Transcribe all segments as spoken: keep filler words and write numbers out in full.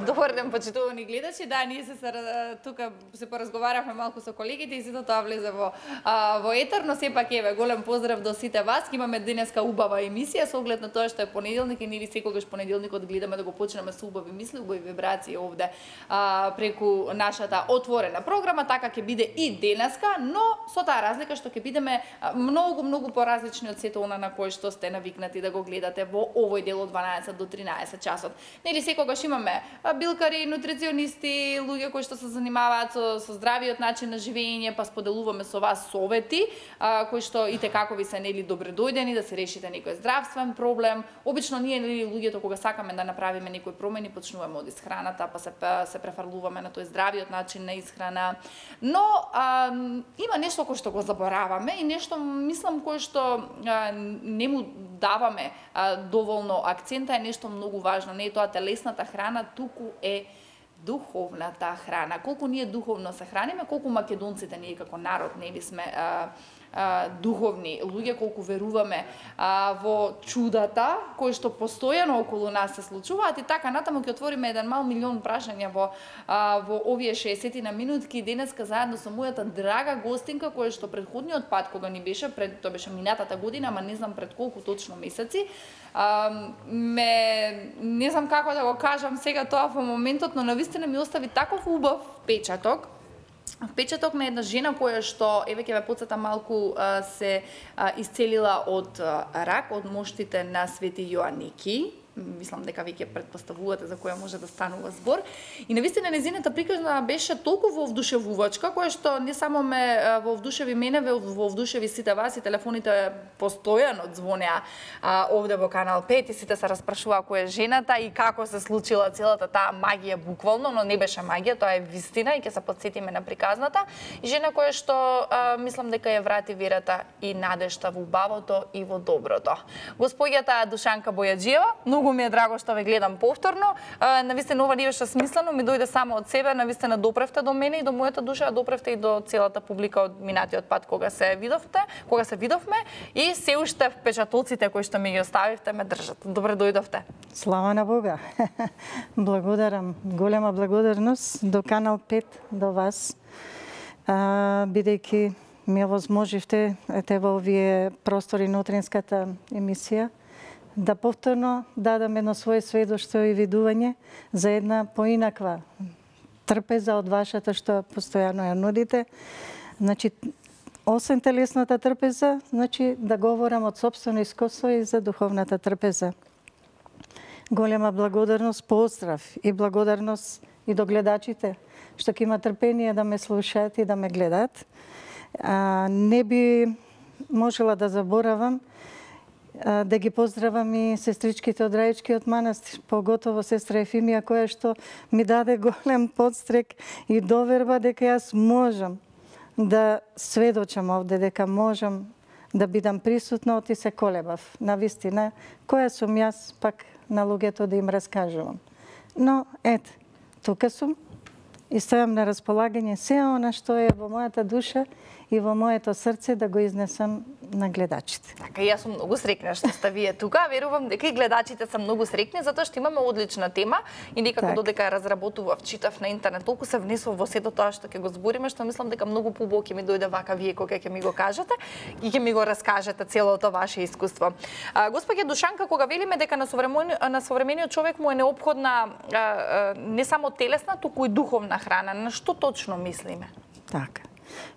Добар ден, почитувани гледачи. Да, ние се тука се поразговаравме малку со колегите и сето тоа влезе во а, во етер, но сепак еве голем поздрав до сите вас. Имаме денеска убава емисија со оглед на тоа што е понеделник и ние секогаш понеделникот гледаме да го почнеме со убави мисли, убави вибрации овде а, преку нашата отворена програма, така ќе биде и денеска, но со таа разлика што ќе бидеме многу многу поразлични од сето она на кое што сте навикнати да го гледате во овој дел од дванаесет до тринаесет часот. Нели секогаш имаме билкари, нутриционисти, луѓе кои што се занимаваат со, со здравиот начин на живење, па споделуваме со вас совети, а, кои што и те како ви се нели добредојдени да се решите некој здравствен проблем. Обично ние нели луѓето кога сакаме да направиме некои промени, почнуваме од исхраната, па се се префрлуваме на тој здравиот начин на исхрана. Но а, има нешто кое што го забораваме и нешто мислам кое што а, не му даваме а, доволно акцента, е нешто многу важно. Не е тоа телесната храна, туку е духовната храна. Колку ние духовно се храниме, колку македонците ние како народ нели сме а, а, духовни луѓе, колку веруваме а, во чудата кои што постојано околу нас се случуваат и така натаму ќе отвориме еден мал милион прашања во а, во овие шеесет на минутки денеска заедно со мојата драга гостинка која што предходниот пат кога ни беше пред тоа беше минатата година, ама не знам пред колку точно месеци, а, ме не знам како да го кажам сега тоа во моментот, но навистина ми остави таков убав печаток. Впечаток на една жена која што, еве ќе ве потсетам малку, се исцелила од рак, од моштите на Свети Јоанники. Мислам дека веќе претпоставувате за која може да станува збор. И навистина незината приказна беше толку вдушевувачка, која што не само ме во вдушеви мене, во вдушеви сите вас и телефоните постојано звонеа а, овде во Канал пет и сите се распрашуваа која е жената и како се случила целата таа магија буквално, но не беше магија, тоа е вистина и ќе се потсетиме на приказната. И жена која што а, мислам дека ја врати верата и надежта во убавото и во доброто. Господјата Душанка Бојаджиева, многу ми е драго што ве гледам повторно. Навистина ова не беше смислено, ми дојде само од себе, навистина допревте до мене и до мојата душа, допревте и до целата публика од минатиот пат кога се видовте, кога се видовме и се уште впечатоците кои што ми ги оставивте ме држат. Добре дојдовте. Слава на Бога. Благодарам, голема благодарност до Канал пет, до вас, а, бидејќи ми овозможивте ете во овие простори на утринската емисија да повторно дадам едно своје сведоштво и видување за една поинаква трпеза од вашата што постојано ја нудите. Значи, освен телесната трпеза, значи да говорам од сопствено искуство и за духовната трпеза. Голема благодарност, поздрав и благодарност и до гледачите што ќе има трпение да ме слушаат и да ме гледаат. А, не би можела да заборавам да ги поздравам и сестричките од Раичкиот манастир, поготово сестра Ефимија, која што ми даде голем подстрек и доверба дека јас можам да сведочам овде, дека можам да бидам присутна, оти се колебав. Навистина, која сум јас пак на луѓето да им раскажувам. Но, ете, тука сум и стојам на располагање се она што е во мојата душа и во моето срце да го изнесам на гледачите. Така, јас сум многу срекна што сте вие тука. Верувам дека и гледачите се многу срекни, затоа што имаме одлична тема и некако так. Додека ја разработував, читав на интернет, толку се внесов во сето тоа што ќе го збориме, што мислам дека многу побоки ми дојде вака вие кога ќе ми го кажете и ќе ми го раскажете целото ваше искуство. А, Господја Душанка, кога велиме дека на современиот, на современиот човек му е неопходна а, а, не само телесна, туку и духовна храна, на што точно мислиме? Така.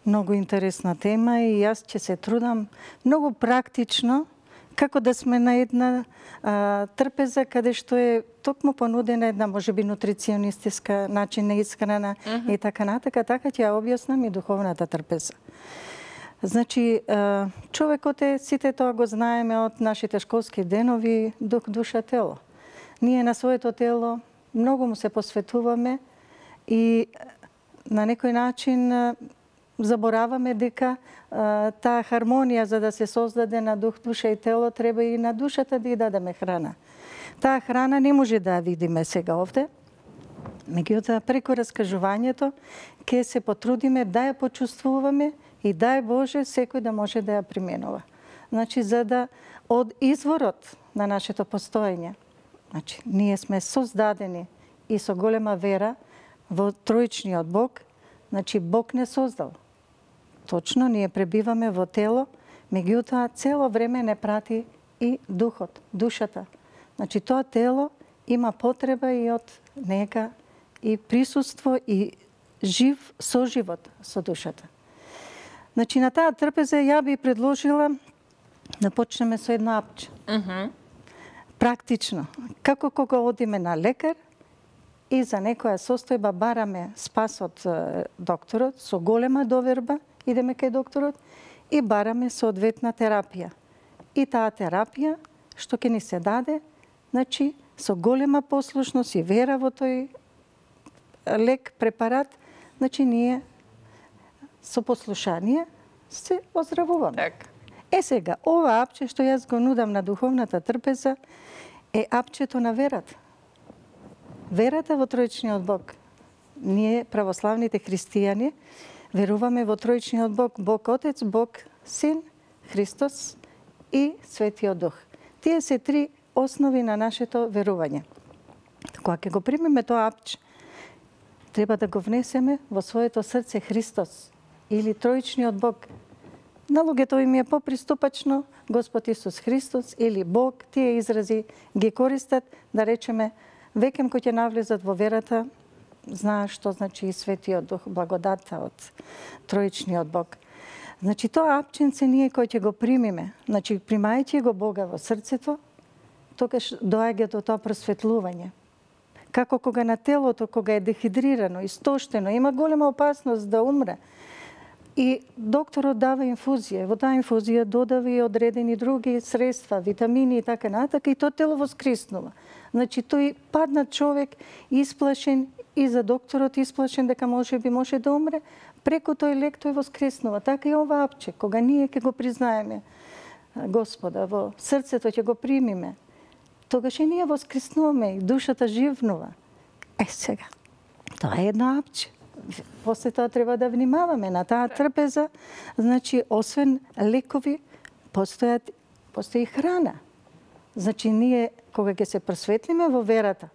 Многу интересна тема и јас ќе се трудам многу практично како да сме на една а, трпеза каде што е токму понудена една можеби нутриционистичка начин на исхрана uh -huh. и така натака, така ќе ја објаснам и духовната трпеза. Значи, а, човекот е, сите тоа го знаеме од нашите школски денови, дух, душа, тело. Ние на своето тело многу му се посветуваме и на некој начин забораваме дека а, таа хармонија за да се создаде на дух, душа и тело, треба и на душата да ја дадеме храна. Таа храна не може да ја видиме сега овде, меѓутоа преку раскажувањето ќе се потрудиме да ја почувствуваме и дај Боже секој да може да ја применува. Значи, за да од изворот на нашето постоење, значи, ние сме создадени и со голема вера во троичниот Бог, значи Бог не создал. Точно, ние пребиваме во тело, меѓутоа цело време не прати и духот, душата. Значи тоа тело има потреба и од нека и присуство и жив соживот со душата. Значи на таа трпеза ја би предложила да почнеме со едно апче. Мгм. Практично, како кога одиме на лекар и за некоја состојба бараме спас од е, докторот, со голема доверба идеме кај докторот и бараме соодветна терапија. И таа терапија што ќе ни се даде, значи со голема послушност и вера во тој лек, препарат, значи ние со послушание се оздравуваме. Така. Е сега, ова апче што јас го нудам на духовната трпеза е апчето на верата. Верата во троичниот Бог. Ние, православните христијани, веруваме во троичниот Бог, Бог Отец, Бог Син, Христос и Светиот Дух. Тие се три основи на нашето верување. Кога ќе го примеме тоа апче, треба да го внесеме во своето срце Христос или троичниот Бог. На луѓето им е поприступачно Господ Исус Христос или Бог, тие изрази ги користат, да речеме, веќе кој ќе навлезат во верата, знаат што значи и Светиот Дух, благодата од троичниот Бог. Значи тоа апченце ние кој ќе го примиме, значи примајќи го Бога во срцето, тогаш доаѓа до тоа просветлување. Како кога на телото, кога е дехидрирано, истоштено, има голема опасност да умре, и докторот дава инфузија. Во таа инфузија додава и одредени други средства, витамини и така натака, и тоа тело воскреснува. Значи тој паднат човек исплашен и за докторот исплашен дека може би може да умре, преку тој лек тој воскреснува. Така и ова апче, кога ние ќе го признаеме Господа во срцето, ќе го примиме, тогаш и ние воскреснуваме и душата живнува. Е сега, тоа е едно апче. После тоа треба да внимаваме на таа трпеза. Значи, освен лекови, постојат, постои храна. Значи, ние, кога ќе се просветлиме во верата,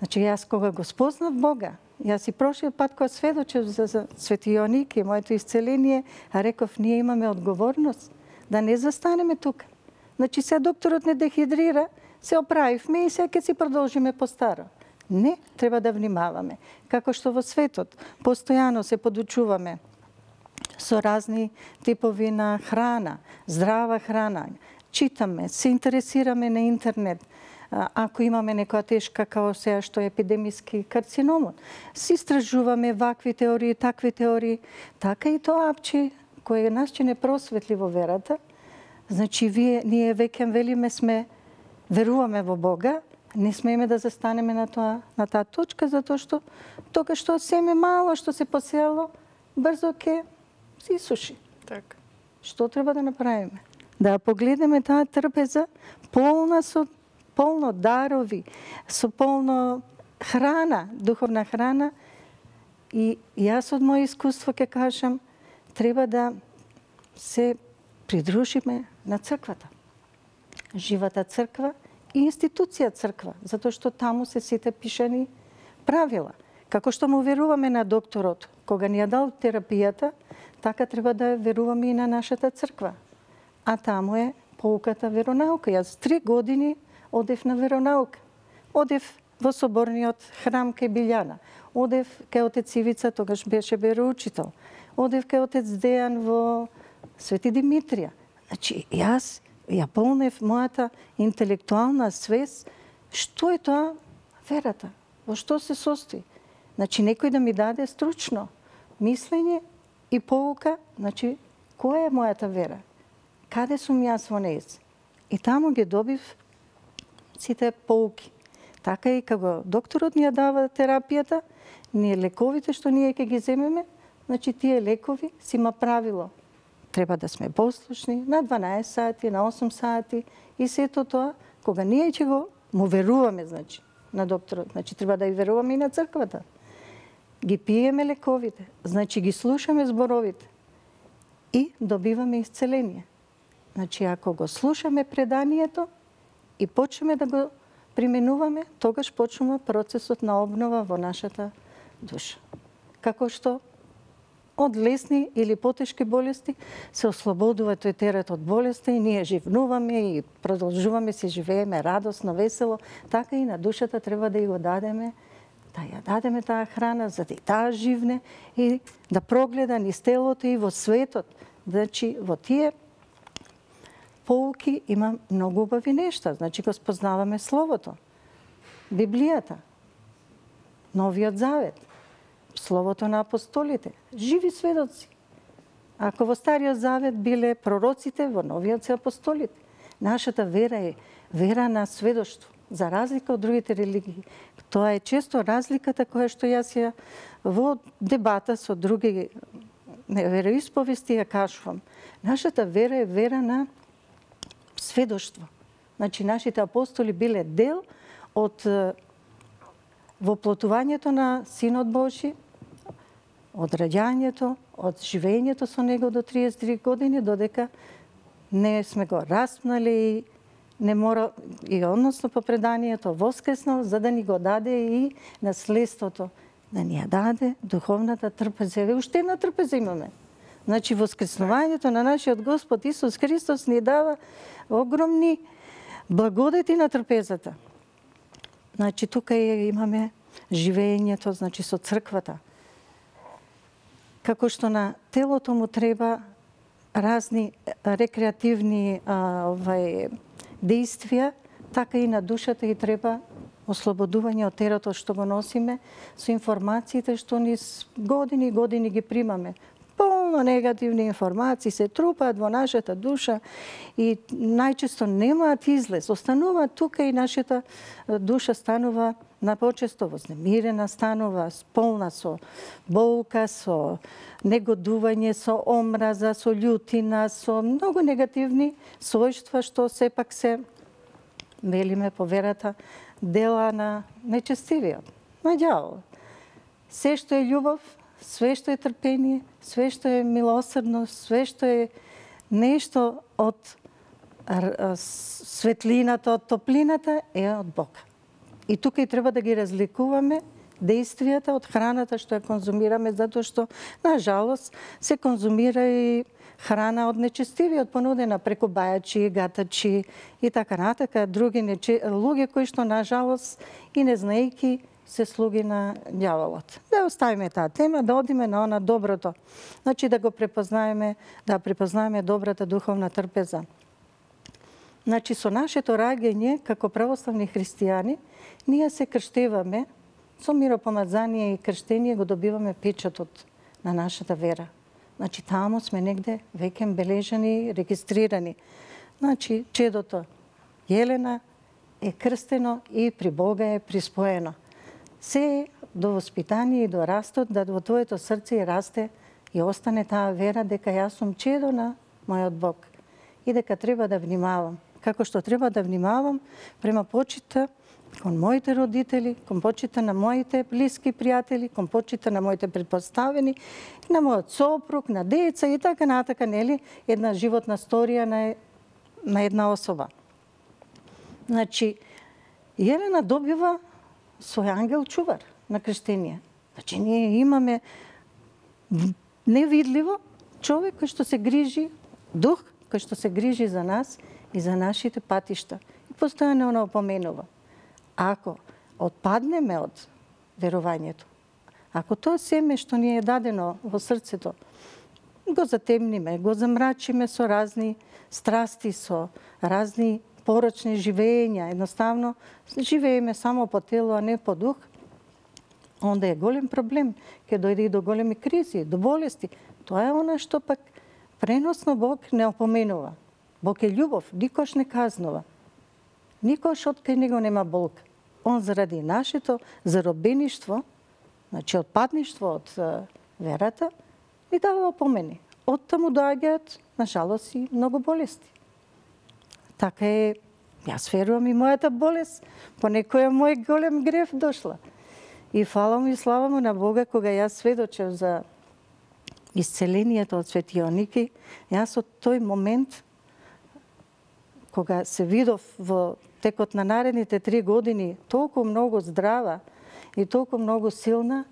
значи, јас кога го спознав Бога, јас и прошиот пат кога сведочев за, за Свети Јоаник и моето исцеление, а реков, ние имаме одговорност да не застанеме тука. Значи, се докторот не дехидрира, се оправивме и сега ќе си продолжиме по-старо. Не, треба да внимаваме. Како што во светот постојано се подучуваме со разни типови на храна, здрава храна, читаме, се интересираме на интернет. Ако имаме некоја тешка као сега што е епидемиски карциномот, се истражуваме вакви теории, такви теории, така и тоа апче кој нас ќе не просветли во верата. Значи, вие, ние веќе велиме сме, веруваме во Бога, не смееме да застанеме на тоа, на таа точка, затоа што тога што семе мало што се посело, брзо ќе се исуши. Така. Што треба да направиме? Да погледнеме таа трпеза полна со полно дарови, со полно храна, духовна храна, и јас од моје искуство ќе кажам, треба да се придружиме на црквата. Живата црква и институција црква, затоа што таму се сите пишани правила. Како што му веруваме на докторот, кога ни ја дал терапијата, така треба да веруваме и на нашата црква. А таму е поуката веронаука. Јас три години одев на веронаука. Одев во соборниот храм кај Билјана. Одев кај отец Ивица, тогаш беше вероучител. Одев кај отец Дејан во Свети Димитрија. Значи, јас ја полнев мојата интелектуална свест, што е тоа верата, во што се состои. Значи, некој да ми даде стручно мислење и поука, значи, која е мојата вера, каде сум јас во нејз. И таму ги добив сите поуки. Така и кога докторот ни ја дава терапијата, ние лековите што ние ќе ги земеме, значи, тие лекови си има правило. Треба да сме послушни на дванаесет сати, на осум сати и сето тоа, кога ние ќе го му веруваме, значи, на докторот, значи треба да и веруваме и на црквата. Ги пиеме лековите, значи ги слушаме зборовите и добиваме исцеление. Значи, ако го слушаме преданието и почнеме да го применуваме, тогаш почнува процесот на обнова во нашата душа. Како што од лесни или потешки болести се ослободува тој терет од болести и ние живнуваме и продолжуваме си живееме радосно, весело, така и на душата треба да ја го дадеме, да ја дадеме таа храна, за да и таа живне и да прогледа низ телото и во светот. Значи, во тие поуки има многу убави нешта. Значи, го спознаваме Словото, Библијата, Новиот Завет, Словото на апостолите, живи сведоци. Ако во Стариот Завет биле пророците, во Новиот се апостолите. Нашата вера е вера на сведоштво, за разлика од другите религии. Тоа е често разликата која што јас ја во дебата со други вероисповести ја кажувам. Нашата вера е вера на сведоштво. Значи, нашите апостоли биле дел од воплотувањето на Синот Божи, од раѓањето, од живењето со него до триесет и три години, додека не сме го распнали и не мора, и односно по преданието воскреснал, за да ни го даде и наследството, да ни ја даде духовната трпеза. Еве, уште една трпеза имаме. Значи, воскреснувањето на нашиот Господ Исус Христос ни дава огромни благодети на трпезата. Значи, тука имаме живењето, значи, со црквата. Како што на телото му треба разни рекреативни а, овај, действија, така и на душата и треба ослободување од теретот што го носиме со информациите што ни години и години ги примаме. Полно негативни информации се трупаат во нашата душа и најчесто немаат излез. Останува тука и нашата душа станува напочесто вознемирена, станува полна со болка, со негодување, со омраза, со љутина, со многу негативни својства што сепак се, велиме по верата, дела на нечестивиот, на ѓаволот. Се што е љубов, све што е трпение, све што е милосрдност, све што е нешто од светлината, од топлината, е од Бога. И тука и треба да ги разликуваме действијата од храната што ја конзумираме, затоа што, на жалост, се конзумира и храна од нечестивиот, понудена преку бајачи, гатачи и така натака, други нече... луѓе кои што, на жалост, и не знаејки, се слуги на ѓаволот. Да оставиме таа тема, да одиме на она доброто. Значи да го препознаеме, да препознаеме добрата духовна трпеза. Значи со нашето раѓање како православни христијани, ние се крштеваме, со миропомазание и крштение го добиваме печатот на нашата вера. Значи таму сме негде веќе бележани, регистрирани. Значи чедото Јелена е крстено и при Бога е приспоено. Се до воспитание и до растот, да во твоето срце и расте и остане таа вера дека јас сум чедо на мојот Бог и дека треба да внимавам. Како што треба да внимавам према почита кон моите родители, кон почита на моите блиски пријатели, кон почита на моите предпоставени, на мојот сопруг, на деца и така натака, нели, една животна сторија на, на една особа. Значи, Јелена добива свој ангел чувар на крштение. Значи, ние имаме невидливо човек кој што се грижи, дух кој што се грижи за нас и за нашите патишта. И постојано она опоменува. Ако отпаднеме од верувањето, ако тоа семе што ни е дадено во срцето, го затемниме, го замрачиме со разни страсти, со разни порочни живења, едноставно живееме само по тело, а не по дух, онда е голем проблем, ќе дојде и до големи кризи, до болести. Тоа е она што пак преносно Бог не опоменува. Бог е љубов, никош не казнува. Никош од кај него нема болка. Он заради нашето заробеништво, значи отпадништво од верата, ни дава опомени. Од таму доаѓаат, на жалост, и многу болести. Така е, јас верувам и мојата болест, по некоја мој голем грев дошла. И фала му и слава му на Бога, кога јас сведочев за исцелението од Светиот Ники, јас од тој момент, кога се видов во текот на наредните три години толку многу здрава и толку многу силна,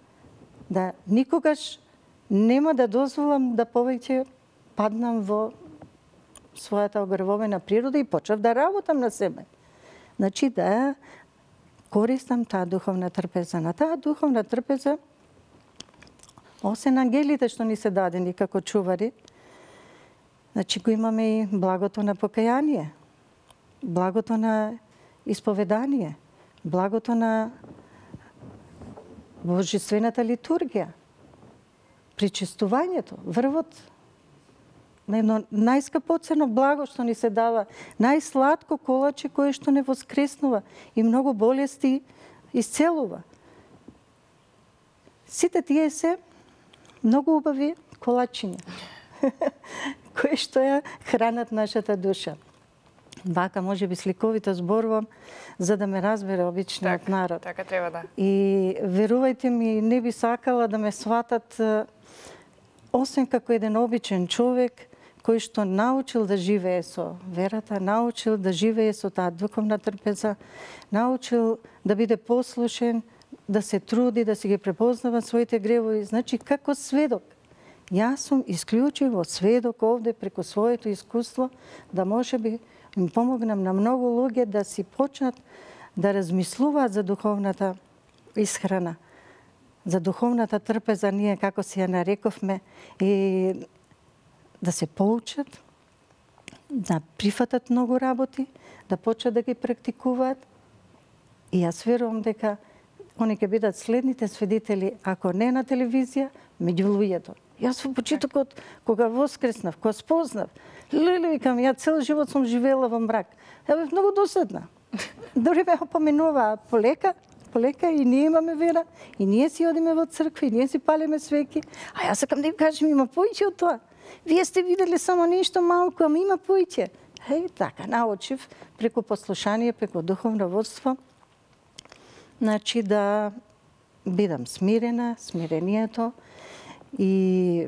да никогаш нема да дозволам да повеќе паднам во својата огревовена природа и почнав да работам на себе. Значи да користам таа духовна трпеза. На таа духовна трпеза, освен ангелите што ни се дадени како чувари, значи го имаме и благото на покаяние, благото на исповедание, благото на божествената литургија, причестувањето, врвот на едно најскапоцено благо што ни се дава, најсладко колаче кое што не воскреснува и многу болести исцелува. Сите тие се многу убави колачиња, кои што ја хранат нашата душа. Вака може би сликовито зборувам за да ме разбере обичниот так, народ. Така треба да. И верувајте ми, не би сакала да ме сватат освен како еден обичен човек кој што научил да живее со верата, научил да живее со таа духовна трпеза, научил да биде послушен, да се труди, да си ги препознава своите гревови. Значи, како сведок. Јас сум исклучиво сведок овде преку своето искуство, да може би им помогнам на многу луѓе да си почнат да размислуваат за духовната исхрана, за духовната трпеза, ние како си ја нарековме, и да се поучат, да прифатат многу работи, да почнат да ги практикуваат. И јас верувам дека они ќе бидат следните свидетели, ако не на телевизија, меѓу луѓето. Јас во почетокот, кога воскреснав, кога спознав, леле, викам, ја цел живот сум живеела во мрак. Ја бев многу досадна. Дори ме опоменуваа полека, полека и ние имаме вера, и ние си одиме во црква, и ние си палиме свеки. А јас сакам да им кажем, има поиќе од тоа. Вие сте видели само нешто малку, ама има поиќе. Еј, така, научив преку послушание, преку духовно водство, значи да бидам смирена, смирението и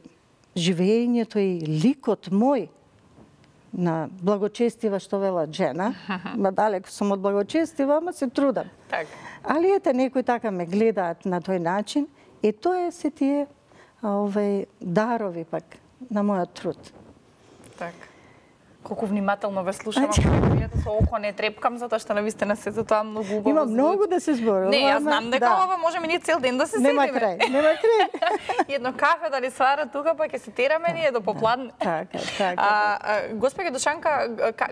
живеењето и ликот мој на благочестива, што велат жена, ма далеко сум од благочестива, ама се трудам. Так. Али ете, некои така ме гледаат на тој начин, и тоа се тие овој дарови пак на мојот труд. Так. Колку внимателно ве слушам, ако со око не трепкам, затоа што навистина се за тоа многу убаво. Има многу да се зборува. Не, јас знам дека да. ова можеме ние цел ден да се седиме. Нема крај, нема крај. Едно кафе да ни свара тука, па ќе се тераме ние до попладне. Така, така. А, а, Госпоѓа Душанка,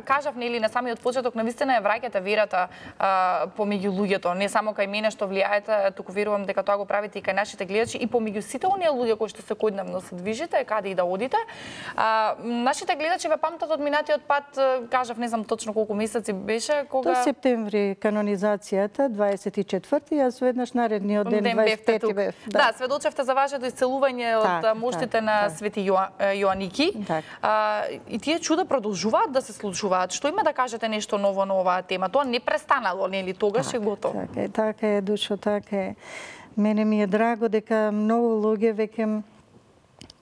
кажав нели на самиот почеток, навистина ја враќате верата а, помеѓу луѓето, не само кај мене што влијаете, туку верувам дека тоа го правите и кај нашите гледачи, и помеѓу сите оние луѓе кои што секојдневно се движите, каде и да одите. А, нашите гледачи ве памтат од минатиот пат, кажав, не знам точно колку месеци беше, кога... До септември канонизацијата, дваесет и четврти, јас веднаш наредниот ден, дваесет и пети бев. Да. да, сведочевте за вашето исцелување од так, моштите так, на так. Свети Јоаники. Так. А, и тие чуда продолжуваат да се случуваат. Што има да кажете нешто ново на оваа тема? Тоа не престанало, нели? Тогаш так, е готово. Така е, така е, Душо, така е. Мене ми е драго дека многу луѓе веќе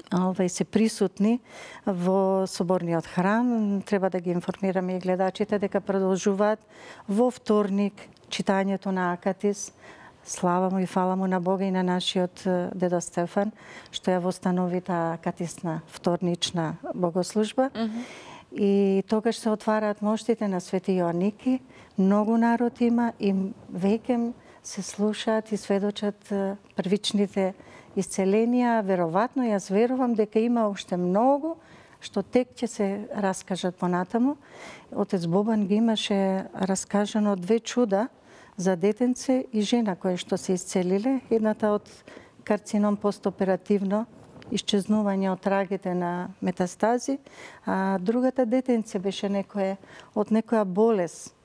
Овај се присутни во соборниот храм. Треба да ги информираме и гледачите дека продолжуваат во вторник читањето на Акатис. Слава му и фала му на Бога и на нашиот дедо Стефан, што ја востанови таа акатисна вторнична богослужба. Mm -hmm. И тогаш се отвараат моштите на Свети Јоаники. Многу народ има и веќе се слушаат и сведочат првичните исцеленија. Веројатно, јас верувам дека има уште многу што тек ќе се раскажат понатаму. Отец Бобан ги имаше раскажано две чуда за детенце и жена кои што се исцелиле. Едната од карцином постоперативно, исчезнување од трагите на метастази, а другата детенце беше некое од некоја болест.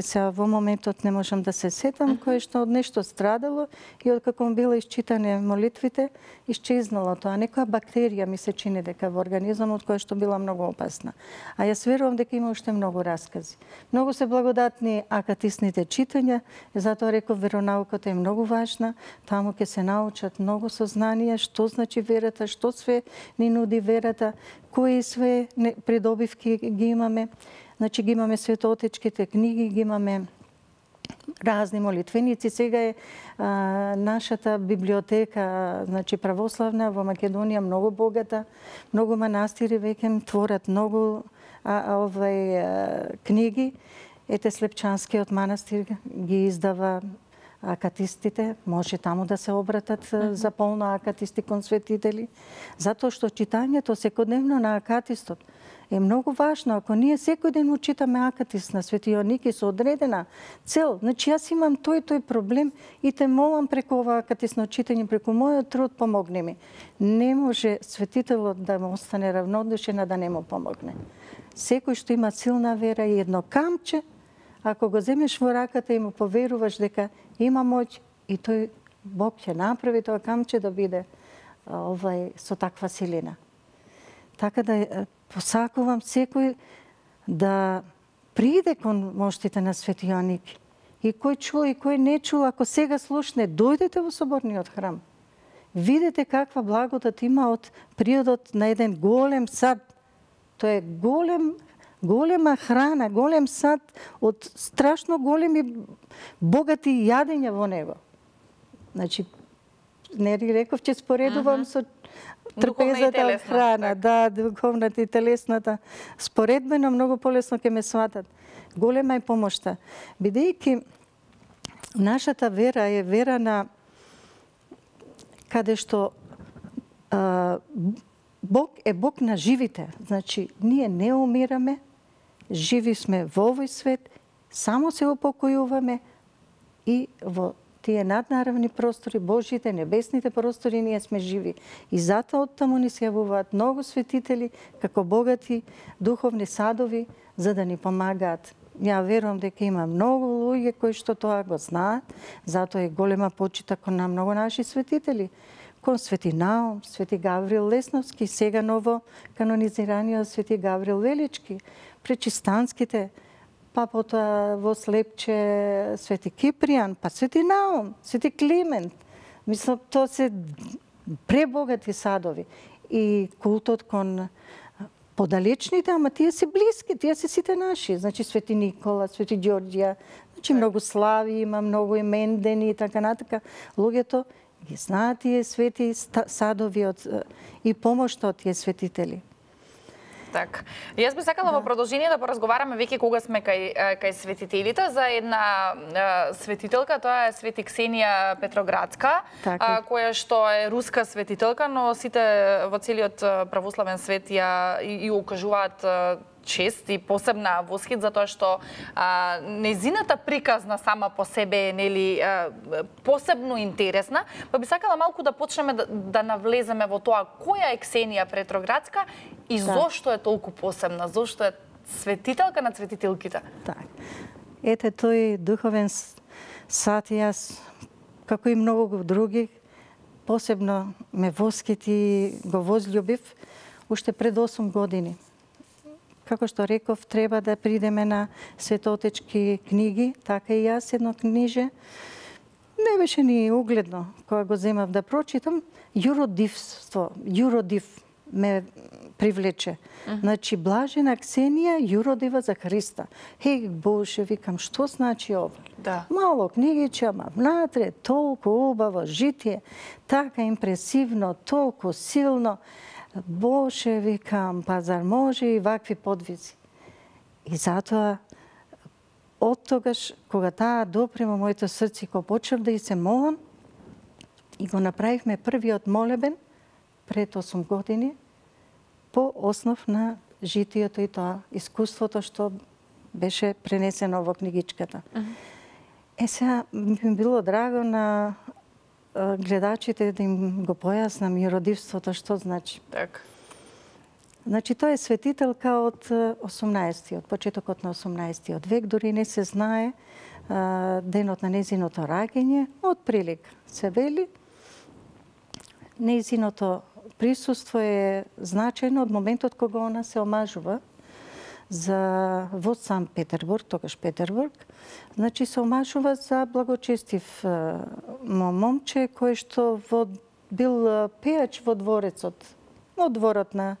Сега во моментот не можам да се сетам, кое што од нешто страдало и од како било исчитане молитвите, исчезнало тоа. Некоја бактерија ми се чини дека во организмот која што била многу опасна. А јас верувам дека има уште многу раскази. Многу се благодатни акатисните читања, затоа реков веронауката е многу важна. Таму ќе се научат многу сознанија, што значи верата, што све ни нуди верата, кои све придобивки ги имаме. Значи ги имаме светоотечките книги, ги имаме разни молитвеници. Сега е а, нашата библиотека, значи православна во Македонија многу богата, многу манастири веќе творат многу а, а, овај а, книги. Ете Слепчанскиот манастир ги издава акатистите, може таму да се обратат mm-hmm. за полно акатисти кон светители, затоа што читањето секојдневно на акатистот е многу важно. Ако ние секој ден му читаме акатист на Свети Јоанники со одредена цел, значи јас имам тој тој проблем и те молам преку ова акатисно читање, преку мојот труд помогни ми. Не може светителот да му остане равнодушен, а да не му помогне. Секој што има силна вера и едно камче, ако го земеш во раката и му поверуваш дека има моќ, и тој Бог ќе направи тоа камче да биде овај со таква силина. Така да посакувам секој да приде кон моштите на Свети Јоанники. И кој чул и кој не чул, ако сега слушне, дојдете во соборниот храм. Видете каква благодат има од приодот на еден голем сад. Тоа е голем голема храна, голем сад од страшно големи богати јадења во него. Значи, не реков, че споредувам uh-huh. со трпезата од храна, да, духовната и телесната. Споредбено многу полесно ќе ме сватат. Голема е помошта. Бидејќи нашата вера е вера на каде што а, Бог е Бог на живите. Значи, ние не умираме, живи сме во овој свет, само се упокојуваме и во тие наднаравни простори, Божите, небесните простори, ние сме живи. И затоа оттаму ни се јавуваат многу светители, како богати духовни садови, за да ни помагаат. Ја верувам дека има многу луѓе кои што тоа го знаат, затоа е голема почита кон на многу наши светители. Кон Свети Наум, Свети Гаврил Лесновски, сега ново канонизираниот Свети Гаврил Велички, пречистанските, па потоа во Слепче Свети Кипријан, па Свети Наум, Свети Климент. Мислам, тоа се пребогати садови. И култот кон подалечните, ама тие се блиски, тие се сите наши. Значи Свети Никола, Свети Ѓорѓија, значи многу слави има, многу имендени и така натака. Луѓето ги знаат тие свети садови од, и помошта од тие светители. Так. Јас би сакала да. Во продолжение да поразговараме веќе кога сме кај, кај светителите за една а, светителка, тоа е Свети Ксенија Петроградска, а, која што е руска светителка, но сите во целиот православен свет ја и, и укажуваат чест и посебна восхит затоа што а, нејзината приказна сама по себе е нели а, посебно интересна, па би сакала малку да почнеме да, да навлеземе во тоа која е Ксенија Петроградска и да. Зошто е толку посебна, зошто е светителка на светителките. Так. Ете тој духовен сад, јас како и многу други посебно ме восхити, го возљубив уште пред осум години. Како што реков, треба да придеме на светоотечки книги, така и јас едно книже. Не беше ни угледно кога го земав да прочитам. Јуродивство, јуродив ме привлече. Uh-huh. Значи, блажена Ксенија, јуродива за Христа. Хеј, Боже, викам, што значи ова? Да. Мало книгиче, ама внатре толку убаво житие, така импресивно, толку силно. Боже, викам, па зар може и вакви подвизи? И затоа, од тогаш, кога таа допре во моето срце, кога почнав да и се молам, и го направивме првиот молебен пред осум години, по основ на житието и тоа искуството што беше пренесено во книгичката. Uh-huh. Е, сега би било драго на гледачите да им го појаснам јуродивството што значи. Так. Значи тоа е светителка од осумнаесеттиот, почетокот на осумнаесеттиот век, дури не се знае а, денот на незиното раѓање, од прилика се вели. Незиното присуство е значајно од моментот кога она се омажува за во Сан Петербург, тогаш Петербург. Значи се омажува за благочестив момче кој што во, бил пејач во дворецот, во дворот на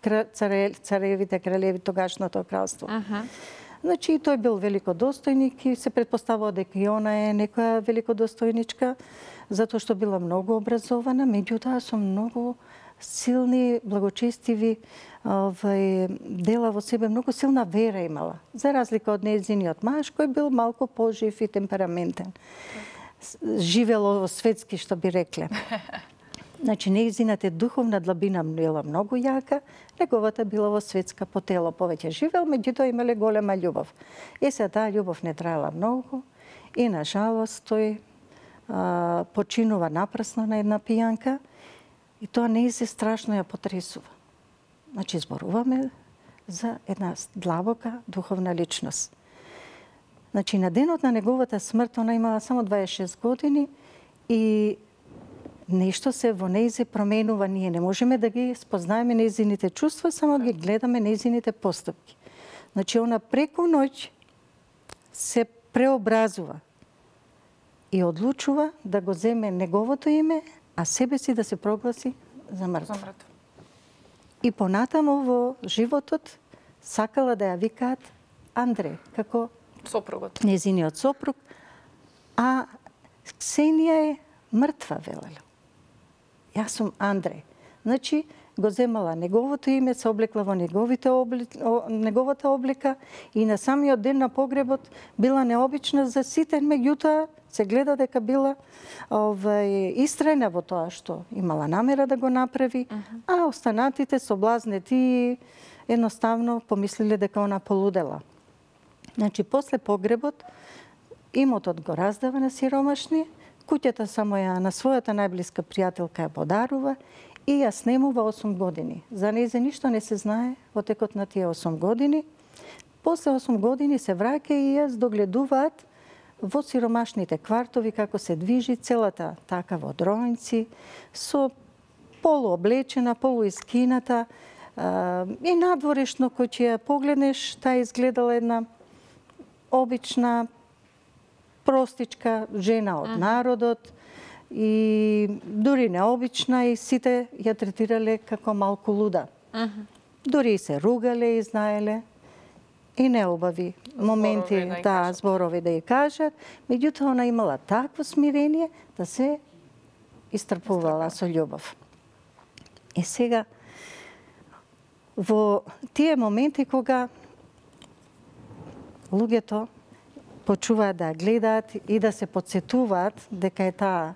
царе, царевите, кралеви тогашното кралство. Аха. Значи, тој бил великодостојник и се предпоставува дека и она е некоја великодостојничка, затоа што била многу образована, меѓутоа со многу силни, благочестиви овај, дела во себе, многу силна вера имала. За разлика од нејзиниот маж, кој бил малку пожив и темпераментен. Живело во светски, што би рекле. Значи, нејзината духовна длабина била многу јака, неговата била во светска по тело повеќе живел, меѓутоа имале голема љубов. Е, се таа љубов не траела многу и, на жалост, тој а, починува напрасно на една пијанка и тоа не се страшно ја потресува. Значи, зборуваме за една длабока духовна личност. Значи, на денот на неговата смрт, она имала само дваесет и шест години и нешто се во нејзе променува. Ние не можеме да ги спознаеме нејзините чувства, само ги гледаме нејзините постапки. Значи, она преку ноќ се преобразува и одлучува да го земе неговото име, а себе си да се прогласи за мртв. И понатаму во животот сакала да ја викаат Андре, како сопругот. Нејзиниот сопруг, а Ксенија е мртва, велела. Јас сум Андре. Значи, го земала неговото име, се облекла во неговите обли... неговата облика и на самиот ден на погребот била необична за сите, меѓутоа се гледа дека била овај, истрајна во тоа што имала намера да го направи, uh -huh. а останатите соблазнети и едноставно помислиле дека она полудела. Значи, после погребот, имотот го раздава на сиромашни, куќата само ја на својата најблиска пријателка ја подарува и ја снемува осум години. За нејзе ништо не се знае во текот на тие осум години. После осум години се враќа и ја здогледуваат во сиромашните квартови како се движи целата така во дројници, со полуоблечена, полуискината и надворешно кој ќе ја погледнеш, таа изгледала една обична, простичка жена од народот и дури необична и сите ја третирале како малку луда. Uh -huh. Дури и се ругале и знаеле и неубави моменти, зборови, да, да зборови да ја кажат. Меѓутоа, она имала такво смирение да се истрпувала со љубов. И сега, во тие моменти кога луѓето почуваат да гледаат и да се подсетуваат дека е таа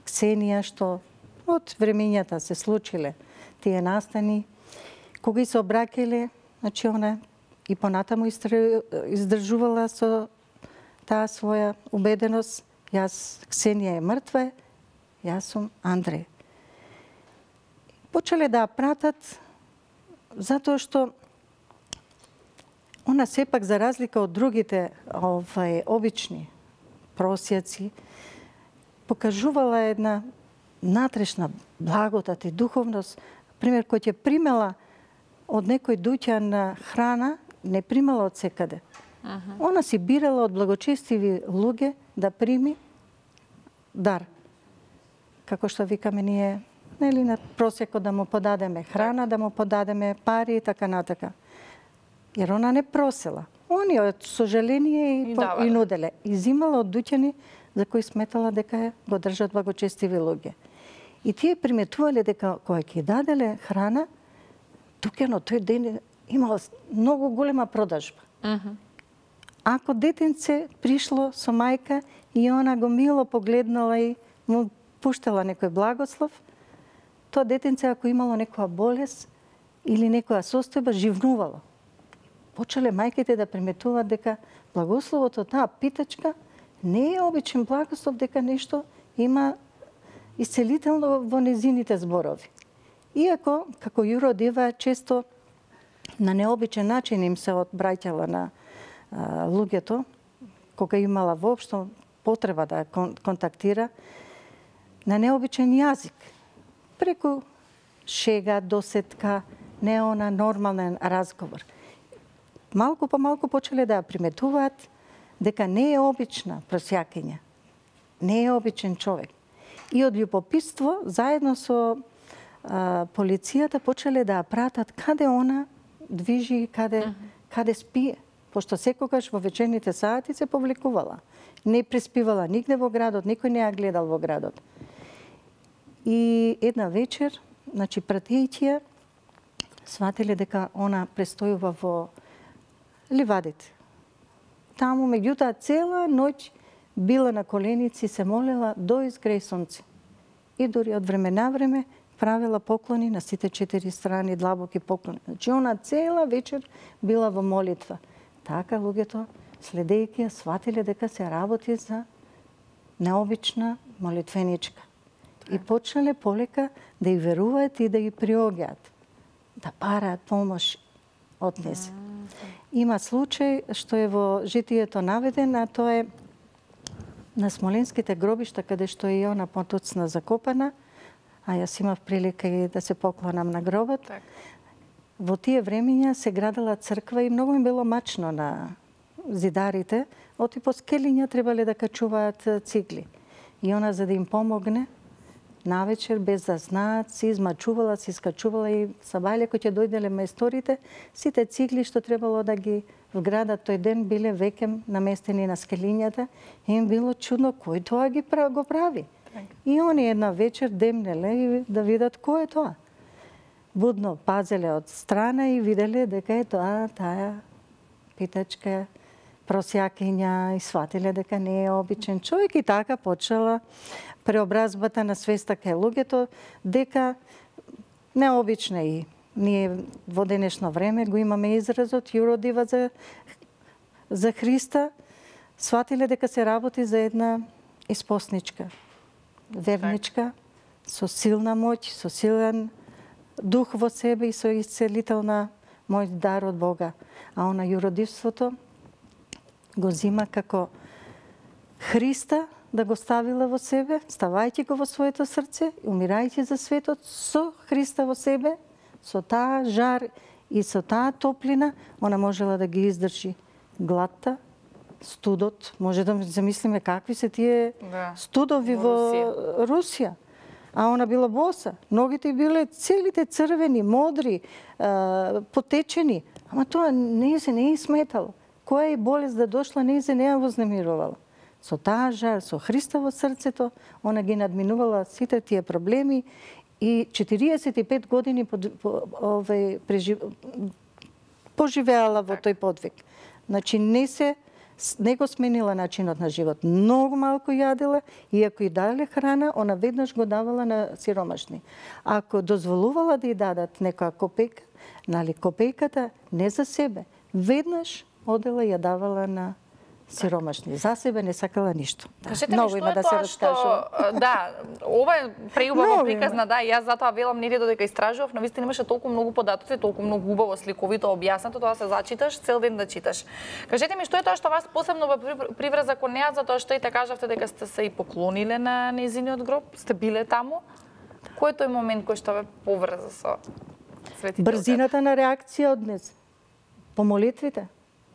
Ксенија што од времењата се случиле тие настани, кога се обраќале, значи она и понатаму издржувала со таа своја убеденост, јас Ксенија е мртва, јас сум Андре. Почеле да ја пратат затоа што она сепак, за разлика од другите овај, обични просјаци, покажувала една натрешна благодат и духовност. Пример, кој ќе примела од некој дуќан храна, не примала од секаде. Uh -huh. Она си бирала од благочестиви луѓе да прими дар. Како што викаме ние, нели, на просекот да му подадеме храна, да му подадеме пари и така натака. Jer ona ne prosila. Oni од сожаление и, и, и нуделе. И зимала од дуќани за кои сметала дека го држат благочестиви луѓе. И тие приметувале дека кога ќе даделе храна, дуќано тој ден имала многу голема продажба. Uh -huh. Ако детенце пришло со мајка и она го мило погледнала и му пуштала некој благослов, тоа детенце ако имало некоја болест или некоја состојба, живнувало. Почеле мајките да приметуваат дека благословот од таа питачка не е обичен благослов, дека нешто има исцелително во незините зборови. Иако, како Јуро Дива, често на необичен начин им се одбраќала на а, луѓето, кога имала воопшто потреба да кон, контактира, на необичен јазик, преку шега, досетка, не она нормален разговор. Малку по малку почеле да ја приметуваат дека не е обична просјакиња, не е обичен човек. И од љубопитство, заедно со а, полицијата почеле да ја пратат каде она движи, каде, uh -huh. каде спие. Пошто секогаш во вечерните сати се повлекувала. Не преспивала нигде во градот, никој не ја гледал во градот. И една вечер, значи пратејќи ја, сватиле дека она престојува во ливадите. Таму, меѓутоа, цела ноќ била на коленици, се молела до изгреј сонце. И дори од време на време правила поклони на сите четири страни, длабоки поклони. Значи, она цела вечер била во молитва. Така луѓето, следејќи ја, сватиле дека се работи за необична молитвеничка. И почнале полека да ја веруваат и да ја приоѓаат, да параат помош од незе. Има случај што е во житието наведен, а тоа е на смоленските гробишта, каде што е и она потоцна закопана, а јас имав прилика и да се поклонам на гробот. Так. Во тие времења се градела црква и многу им било мачно на зидарите, оти по скелиња требале да качуваат цигли. И она, за да им помогне, навечер, без да знаат, се измачувала, се искачувала и сабајле кој ќе дојделе мајсторите, сите цигли што требало да ги вградат тој ден биле веќе наместени на скелињата и им било чудно кој тоа ги го прави. Так. И они една вечер демнеле и да видат кој е тоа. Будно пазеле од страна и виделе дека е тоа таа питачка просјакиња и сватиле дека не е обичен човек и така почела преобразбата на свеста кај луѓето дека необична и ние во денешно време го имаме изразот јуродива за за Христа, сватиле дека се работи за една испосничка, верничка, со силна моќ, со силен дух во себе и со исцелителна мој дар од Бога. А она јуродивството го зима како Христа да го ставила во себе, ставајќи го во своето срце, умирајќи за светот со Христа во себе, со таа жар и со таа топлина, она можела да ги издржи гладта, студот. Може да замислиме какви се тие да. студови во, во Русија. Русија. А она била боса. Ногите биле целите црвени, модри, потечени. Ама тоа не се не е сметало. Која е болест да дошла, не се не ја вознемирувала. Со таа жар, со Христа во срцето, она ги надминувала сите тие проблеми и четириесет и пет години по, по, ове, прежив... поживеала во тој подвиг. Значи не се не го сменила начинот на живот. Многу малку јадела и ако и дале храна, она веднаш го давала на сиромашни. Ако дозволувала да ја дадат некоја копејка, нали копејката не за себе, веднаш одела ја давала на сиромашни. За себе не сакала ништо. Кажете ми, што е да тоа што... Да, ова е преубаво приказна, да, и јас затоа велам не додека истражував, но вистина имаше толку многу податоци, толку многу убаво сликовито објаснато, тоа се зачиташ, цел ден да читаш. Кажете ми, што е тоа што вас посебно ве приврза кон неа, затоа што и така кажавте дека сте се и поклониле на нејзиниот гроб, сте биле таму? Кој е тој момент кој што ве поврза со светите? Брзината на реакција од днес. По молитвите.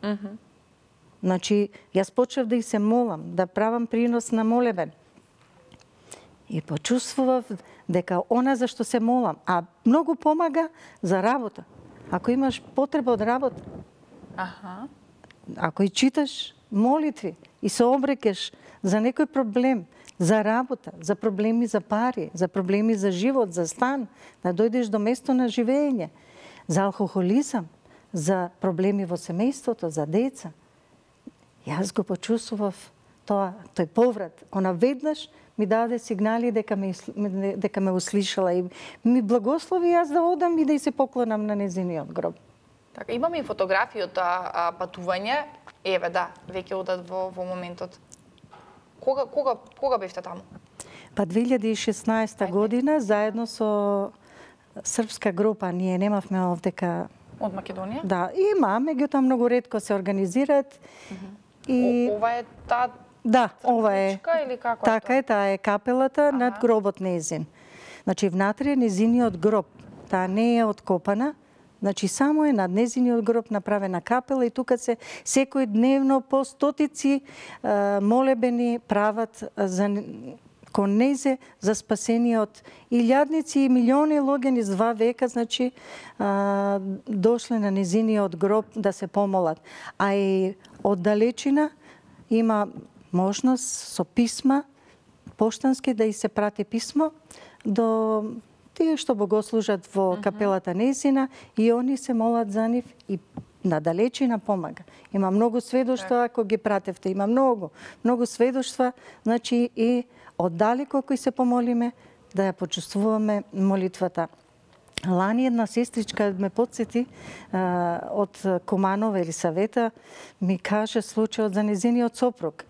Мхм. Значи, јас почнав да и се молам, да правам принос на молебен. И почувствував дека она за што се молам, а многу помага за работа. Ако имаш потреба од работа, Аха. ако и читаш молитви и се обрекеш за некој проблем, за работа, за проблеми за пари, за проблеми за живот, за стан, да дојдеш до место на живење, за алкохолизам, за проблеми во семејството, за деца. Јас го почувствував тоа, тој поврат. Она веднаш ми даде сигнали дека ме, дека ме услишала и ми благослови јас да одам и да и се поклонам на нејзиниот гроб. Така, имаме и фотографии од тоа патување. Еве, да, веќе одат во, во моментот. Кога, кога, кога бевте таму? Па две илјади и шеснаесета година, заедно со српска група, ние немавме овдека... Од Македонија? Да, има, меѓутоа многу ретко се организираат. Uh-huh. И... О, ова е таа Да, ова е. Или како така е, е, таа е капелата ага. над гробот нејзин. Значи, внатре е нејзиниот гроб. Таа не е откопана. Значи, само е над нејзиниот гроб направена капела и тука се секој дневно по стотици а, молебени прават за кон незе за спасение од илјадници и милиони луѓе низ два века, значи, а, дошле на незиниот гроб да се помолат. А и од далечина има можност со писма, поштански да и се прати писмо до тие што богослужат во капелата незина и они се молат за нив и на далечина помага. Има многу сведоштва ако ги пратевте, има многу, многу сведоштва, значи и оддалеко кои се помолиме да ја почувствуваме молитвата. Лани една сестричка ме подсети а, од Куманова или Савета, ми каже случајот за незиниот сопруг.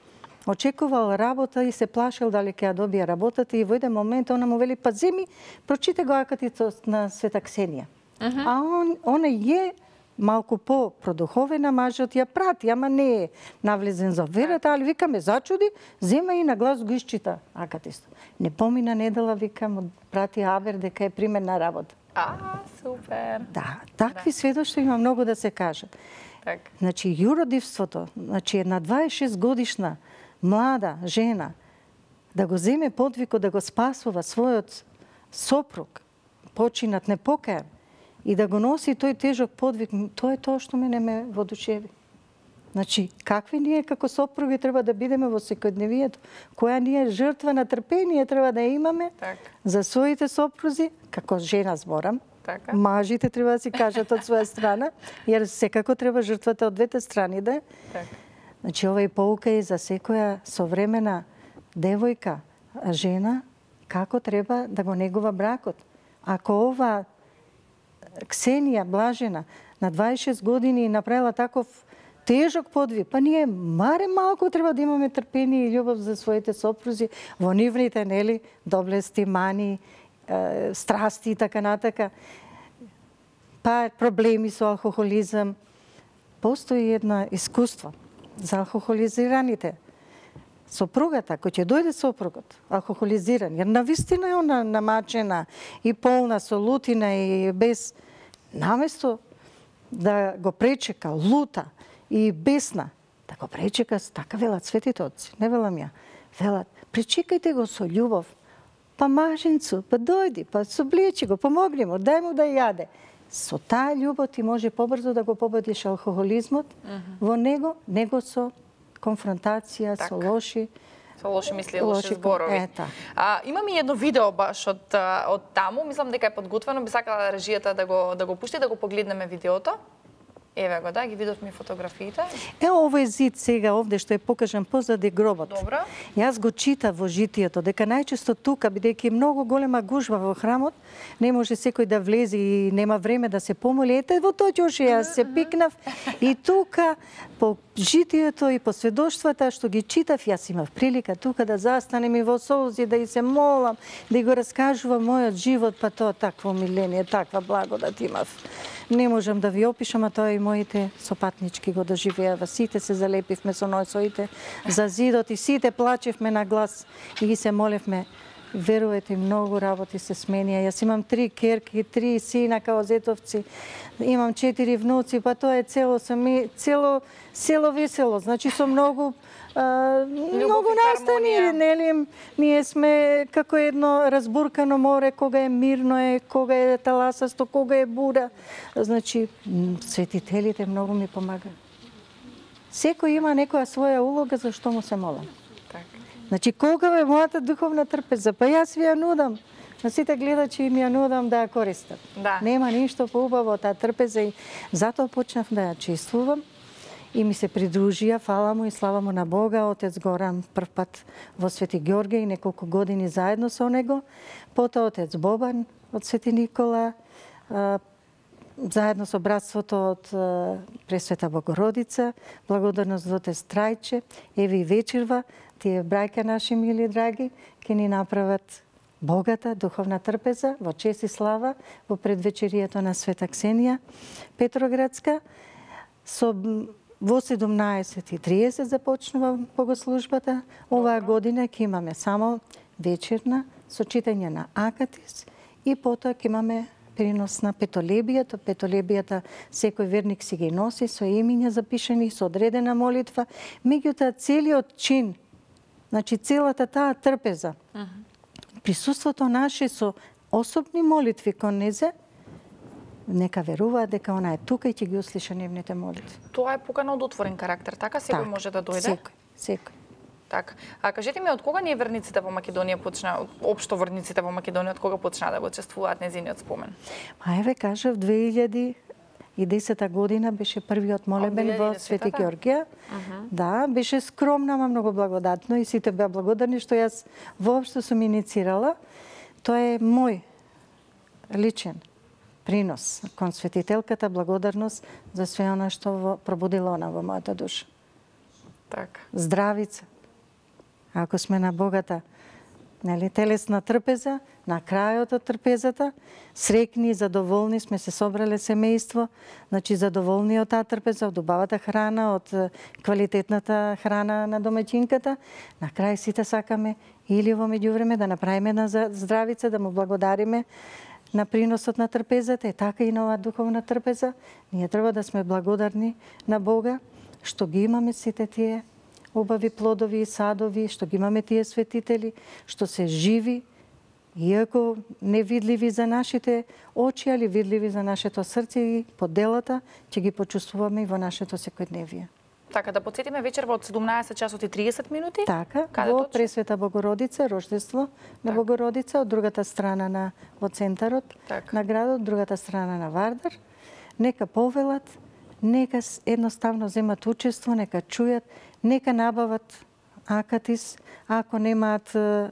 Очекувал работа и се плашил дали ќе ја добие работата и во еден момент она му вели па земи, прочите го акатицот на Света Ксенија. Uh -huh. А он, она е малку по-продуховена, мажот ја прати, ама не е навлезен за верата, али вика ме зачуди, зема и на глас го исчита акатистот. Не помина недела, вика му прати авер дека е применна работа. А, супер. Да, такви да. сведоштва има многу да се кажат. Так. Значи, јуродивството, значи една дваесет и шест годишна млада жена да го земе подвикот да го спасува својот сопруг, починат непокаен, и да го носи тој тежок подвиг, тоа е тоа што мене ме воодушеви. Значи, какви ние како сопруги треба да бидеме во секојдневието, која ние жртва на трпение треба да имаме так. за своите сопрузи, како жена зборам, така. Мажите треба да си кажат од своја страна, јер секако треба жртвата од двете страни да е. Так. Значи, ова е поука и за секоја современа девојка, жена, како треба да го негува бракот. Ако ова Ксенија Блажена на дваесет и шест години направила таков тежок подвиг, па ние маре малку треба да имаме трпение и љубов за своите сопрузи во нивните, нели, доблести, мани, е, страсти и така натака. Па проблеми со алкохолизам. Постои едно искуство за алкохолизираните. Сопругата, кој ќе дојде сопругот, алкохолизиран, jer навистина е она намачена и полна со лутина и без... Наместо да го пречека лута и бесна, да го пречека, така велат светите отци, не велам ја, велат, пречекајте го со љубов, па маженцу, па дојди, па соблечи го, помогни му, дај му да јаде. Со таа љубов ти може побрзо да го победиш алкохолизмот mm -hmm. во него, него со конфронтација, так. со лоши со лоши мисли, лоши, лоши зборови. Е, а, имам и едно видео баш од од таму, мислам дека е подготвено, би сакала режијата да го да го пушти, да го погледнеме видеото. Еве го, да, ги видовме фотографиите. Е, овој зид сега овде што е покажан позади гробот. Добро. Јас го читав во житието дека најчесто тука, бидејќи е многу голема гужва во храмот, не може секој да влезе и нема време да се помоли. Ете, во тоа ќе јас се пикнав и тука по житието и по сведоштвата што ги читав, јас имав прилика тука да застанем и во солзи, да и се молам, да го раскажувам мојот живот, па тоа такво миление, таква благодат имав. Не можам да ви опишам, а тоа и моите сопатнички го доживеа. Сите се залепивме со носоите за зидот и сите плачевме на глас и ги се молевме. Верувате, многу работи се сменија. Јас имам три керки, три сина као зетовци, имам четири внуци, па тоа е цело сами, цело село весело. Значи со многу а, многу настани, нели, ние сме како едно разбуркано море, кога е мирно е, кога е таласасто, кога е бура. Значи светителите многу ми помага. Секој има некоја своја улога за што му се молам. Значи, колка е мојата духовна трпеза? Па јас ви ја нудам. На сите гледачи им ја нудам да ја користат. Да. Нема ништо поубаво од таа трпеза и затоа почнав да ја чествувам и ми се придружија, фала му и слава му на Бога, отец Горан прв пат во Свети Ѓорѓе и неколку години заедно со него, потоа отец Бобан од Свети Никола, заедно со братството од Пресвета Богородица, благодарност за отец Трајче, еве и вечерва, тие брајка наши мили драги, ќе ни направат богата духовна трпеза во чест и слава во предвечерието на Света Ксенија Петроградска. Со во седумнаесет и триесет започнува богослужбата. Оваа година ќе имаме само вечерна со читање на Акатис и потоа ќе имаме принос на петолебијата. Петолебијата секој верник си ги носи со имиња запишани, со одредена молитва. Меѓутоа целиот чин Значи, целата таа трпеза, присуството наше со особни молитви кон незе, нека веруваат дека она е тука и ќе ги услиша нивните молитви. Тоа е покана од отворен карактер, така секој Так, може да дојде? Секој, секој. Така. А кажете ми, од кога ние верниците во Македонија почна, општо верниците во Македонија, од кога почна да го чествуваат незиниот спомен? А еве кажав, две илјади и десета година беше првиот молебен во Свети Ѓорѓија. Да, беше скромно, ама многу благодатно и сите беа благодарни што јас воопшто сум иницирала. Тоа е мој личен принос кон светителката, благодарност за све она што во, пробудила она во мојата душа. Така. Здравица. Ако сме на богата, нели, телесна трпеза, на крајот од трпезата, срекни и задоволни сме се собрале семејство, значи задоволни од таа трпеза, од убавата храна, од квалитетната храна на домаќинката, на крај сите сакаме или во меѓувреме да направиме една здравица, да му благодариме на приносот на трпезата, е така и на оваа духовна трпеза. Ние треба да сме благодарни на Бога што ги имаме сите тие убави плодови и садови, што ги имаме тие светители, што се живи, иако невидливи за нашите очи, али видливи за нашето срце и по делата, ќе ги почувствуваме и во нашето секојдневие. Така, да подсетиме вечерва од седумнаесет часот и тридесет минути? Така, Каде во точно? Пресвета Богородица, Рождество на Так. Богородица, од другата страна на во центарот Так. на градот, другата страна на Вардар. Нека повелат, нека едноставно земат учество, нека чујат, нека набават акатис, ако немаат е,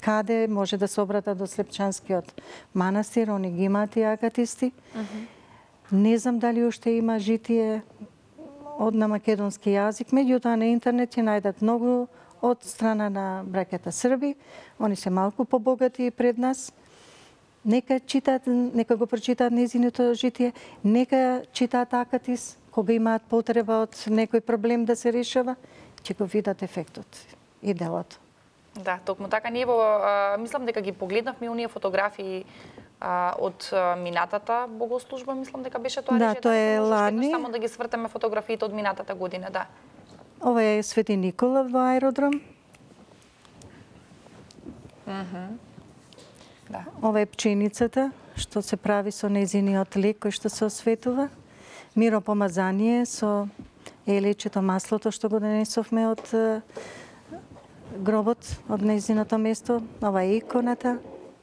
каде, може да се обратат до Слепчанскиот манастир, они ги имаат и акатисти. Не знам дали уште има житие од на македонски јазик, меѓутоа на интернет ќе најдат многу од страна на браќата Срби, они се малку побогати пред нас. Нека читаат, нека го прочитаат незиното житие, нека читаат акатис, кога имаат потреба од некој проблем да се решава, ќе го видат ефектот и делото. Да, токму така ние во, а, мислам дека ги погледнавме оние фотографии а, од а, минатата богослужба, мислам дека беше тоа. Да, рече, тоа е можеш лани. еднаш Само да ги свртаме фотографиите од минатата година, да. Ова е Свети Никола во аеродром. Да. Ова е пченицата што се прави со незиниот лек кој што се осветува. Миропомазание со елечето, маслото што го донесовме од е, гробот, од незиното место. Ова е иконата.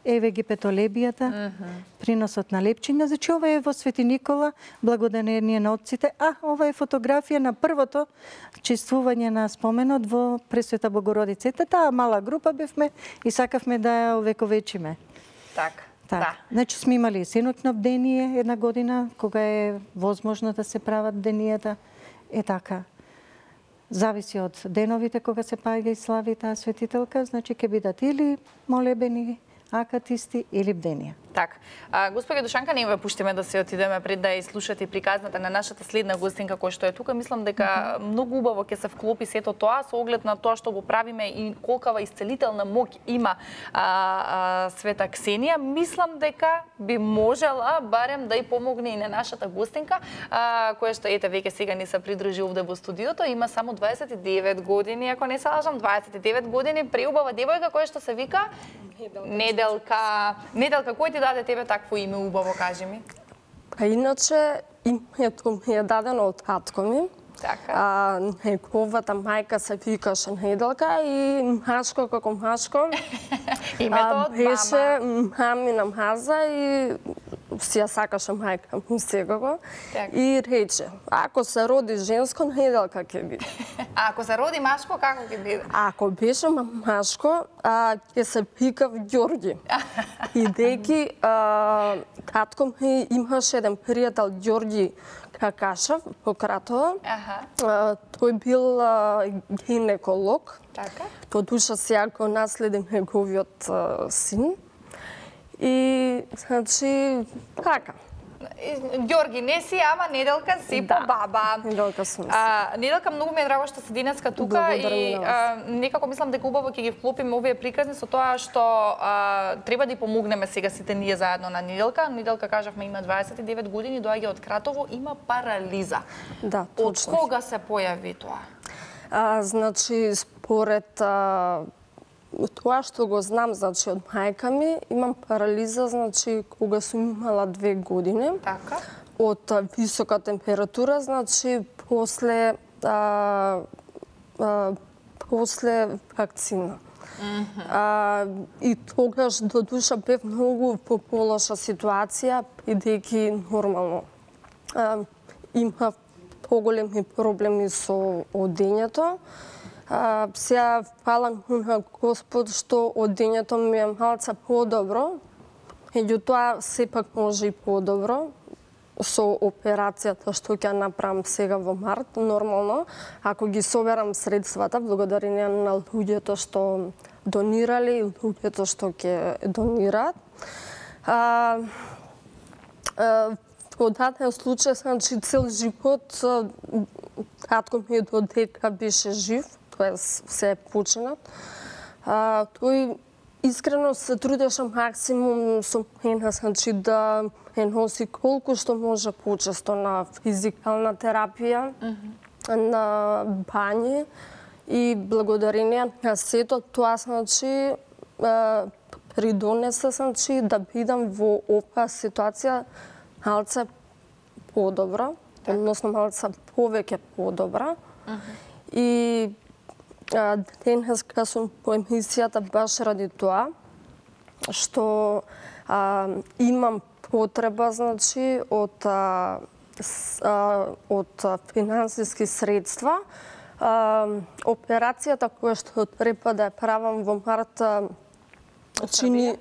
Еве ги петолебијата, mm -hmm. приносот на лепчиња. Значи, ова е во Свети Никола, благодарение на отците. А, ова е фотографија на првото чествување на споменот во Пресвета Богородица. Ете, таа мала група бевме и сакавме да ја овековечиме. Така. Так. Да. Значи, сме имали сеночно бдение една година, кога е возможно да се прават бденијата. Е така. Зависи од деновите кога се паѓа и слави таа светителка, значи ќе бидат или молебени, акатисти или бденија. Така. А, господја Душанка, не ве пуштиме да се отидеме пред да изслушате приказната на нашата следна гостинка која што е тука. Мислам дека mm -hmm. многу убаво ќе се вклопи сето тоа со оглед на тоа што го правиме и колкава исцелителна моќ има а, а, Света Ксенија. Мислам дека би можела барем да и помогне и на нашата гостинка, а, која што ете веќе сега ни се придружи овде во студиото. Има само дваесет и девет години, ако не се лажам, дваесет и девет години, преубава девојка која што се вика Неделка. Неделка, кој ти даде тебе такво име убаво, кажи ми? А иначе името ми е дадено од татко ми. Така. А, неговата мајка се викаше Неделка и мачко како мачко. Името од беше мама. мамина маза и си ја сакаше мајка ми секако. Така. И рече, ако се роди женско, Неделка ќе биде. А ако се роди машко, како ќе биде? Ако беше машко, а, ќе се викав Ѓорги. Идејќи, татко ми имаше еден пријател Ѓорги Какашев во Кратово. Аха. А, тој бил а, гинеколог. Така. По душа сега го наследи неговиот а, син. И, значи, така. Ѓорги, не си, ама Неделка си Да. по баба. Неделка сум си. А, Неделка, многу ми е драго што си денеска тука Благодарам и на вас. а, некако мислам дека убаво ќе ги вклопиме овие приказни со тоа што а, треба да ја помогнеме сега сите ние заедно на Неделка. Неделка, кажавме, има дваесет и девет години, доаѓа од Кратово, има парализа. Да, Од точно. кога се појави тоа? А, значи, според а, тоа што го знам, значи, од мајка ми, имам парализа, значи, кога сум имала две години. Така. Од а, висока температура, значи, после а, а, после вакцина. Mm-hmm. А, и тогаш до душа бев многу по полоша ситуација, бидејќи нормално а, имав поголеми проблеми со одењето. А, сега фалам на Господ што одењето ми е малце подобро, меѓутоа сепак може и подобро со операцијата што ќе направам сега во март, нормално, ако ги соберам средствата, благодарение на луѓето што донирали и луѓето што ќе донираат. А, а, во даден случај, значи, цел живот, татко ми додека беше жив, тоест се е починат, а, тој искрено се трудеше максимум со мене, значи, да е носи колку што може почесто на физикална терапија, mm-hmm. на бањи и благодарение на сето тоа, значи, придонесе, значи, да бидам во оваа ситуација малце подобра, так. Односно малце повеќе подобра. Mm-hmm. И а, денес кога сум по емисијата баш ради тоа, што а, имам потреба, значи, од, а, с, а, од финансиски средства. А, операцијата која што треба да ја правам во март чини...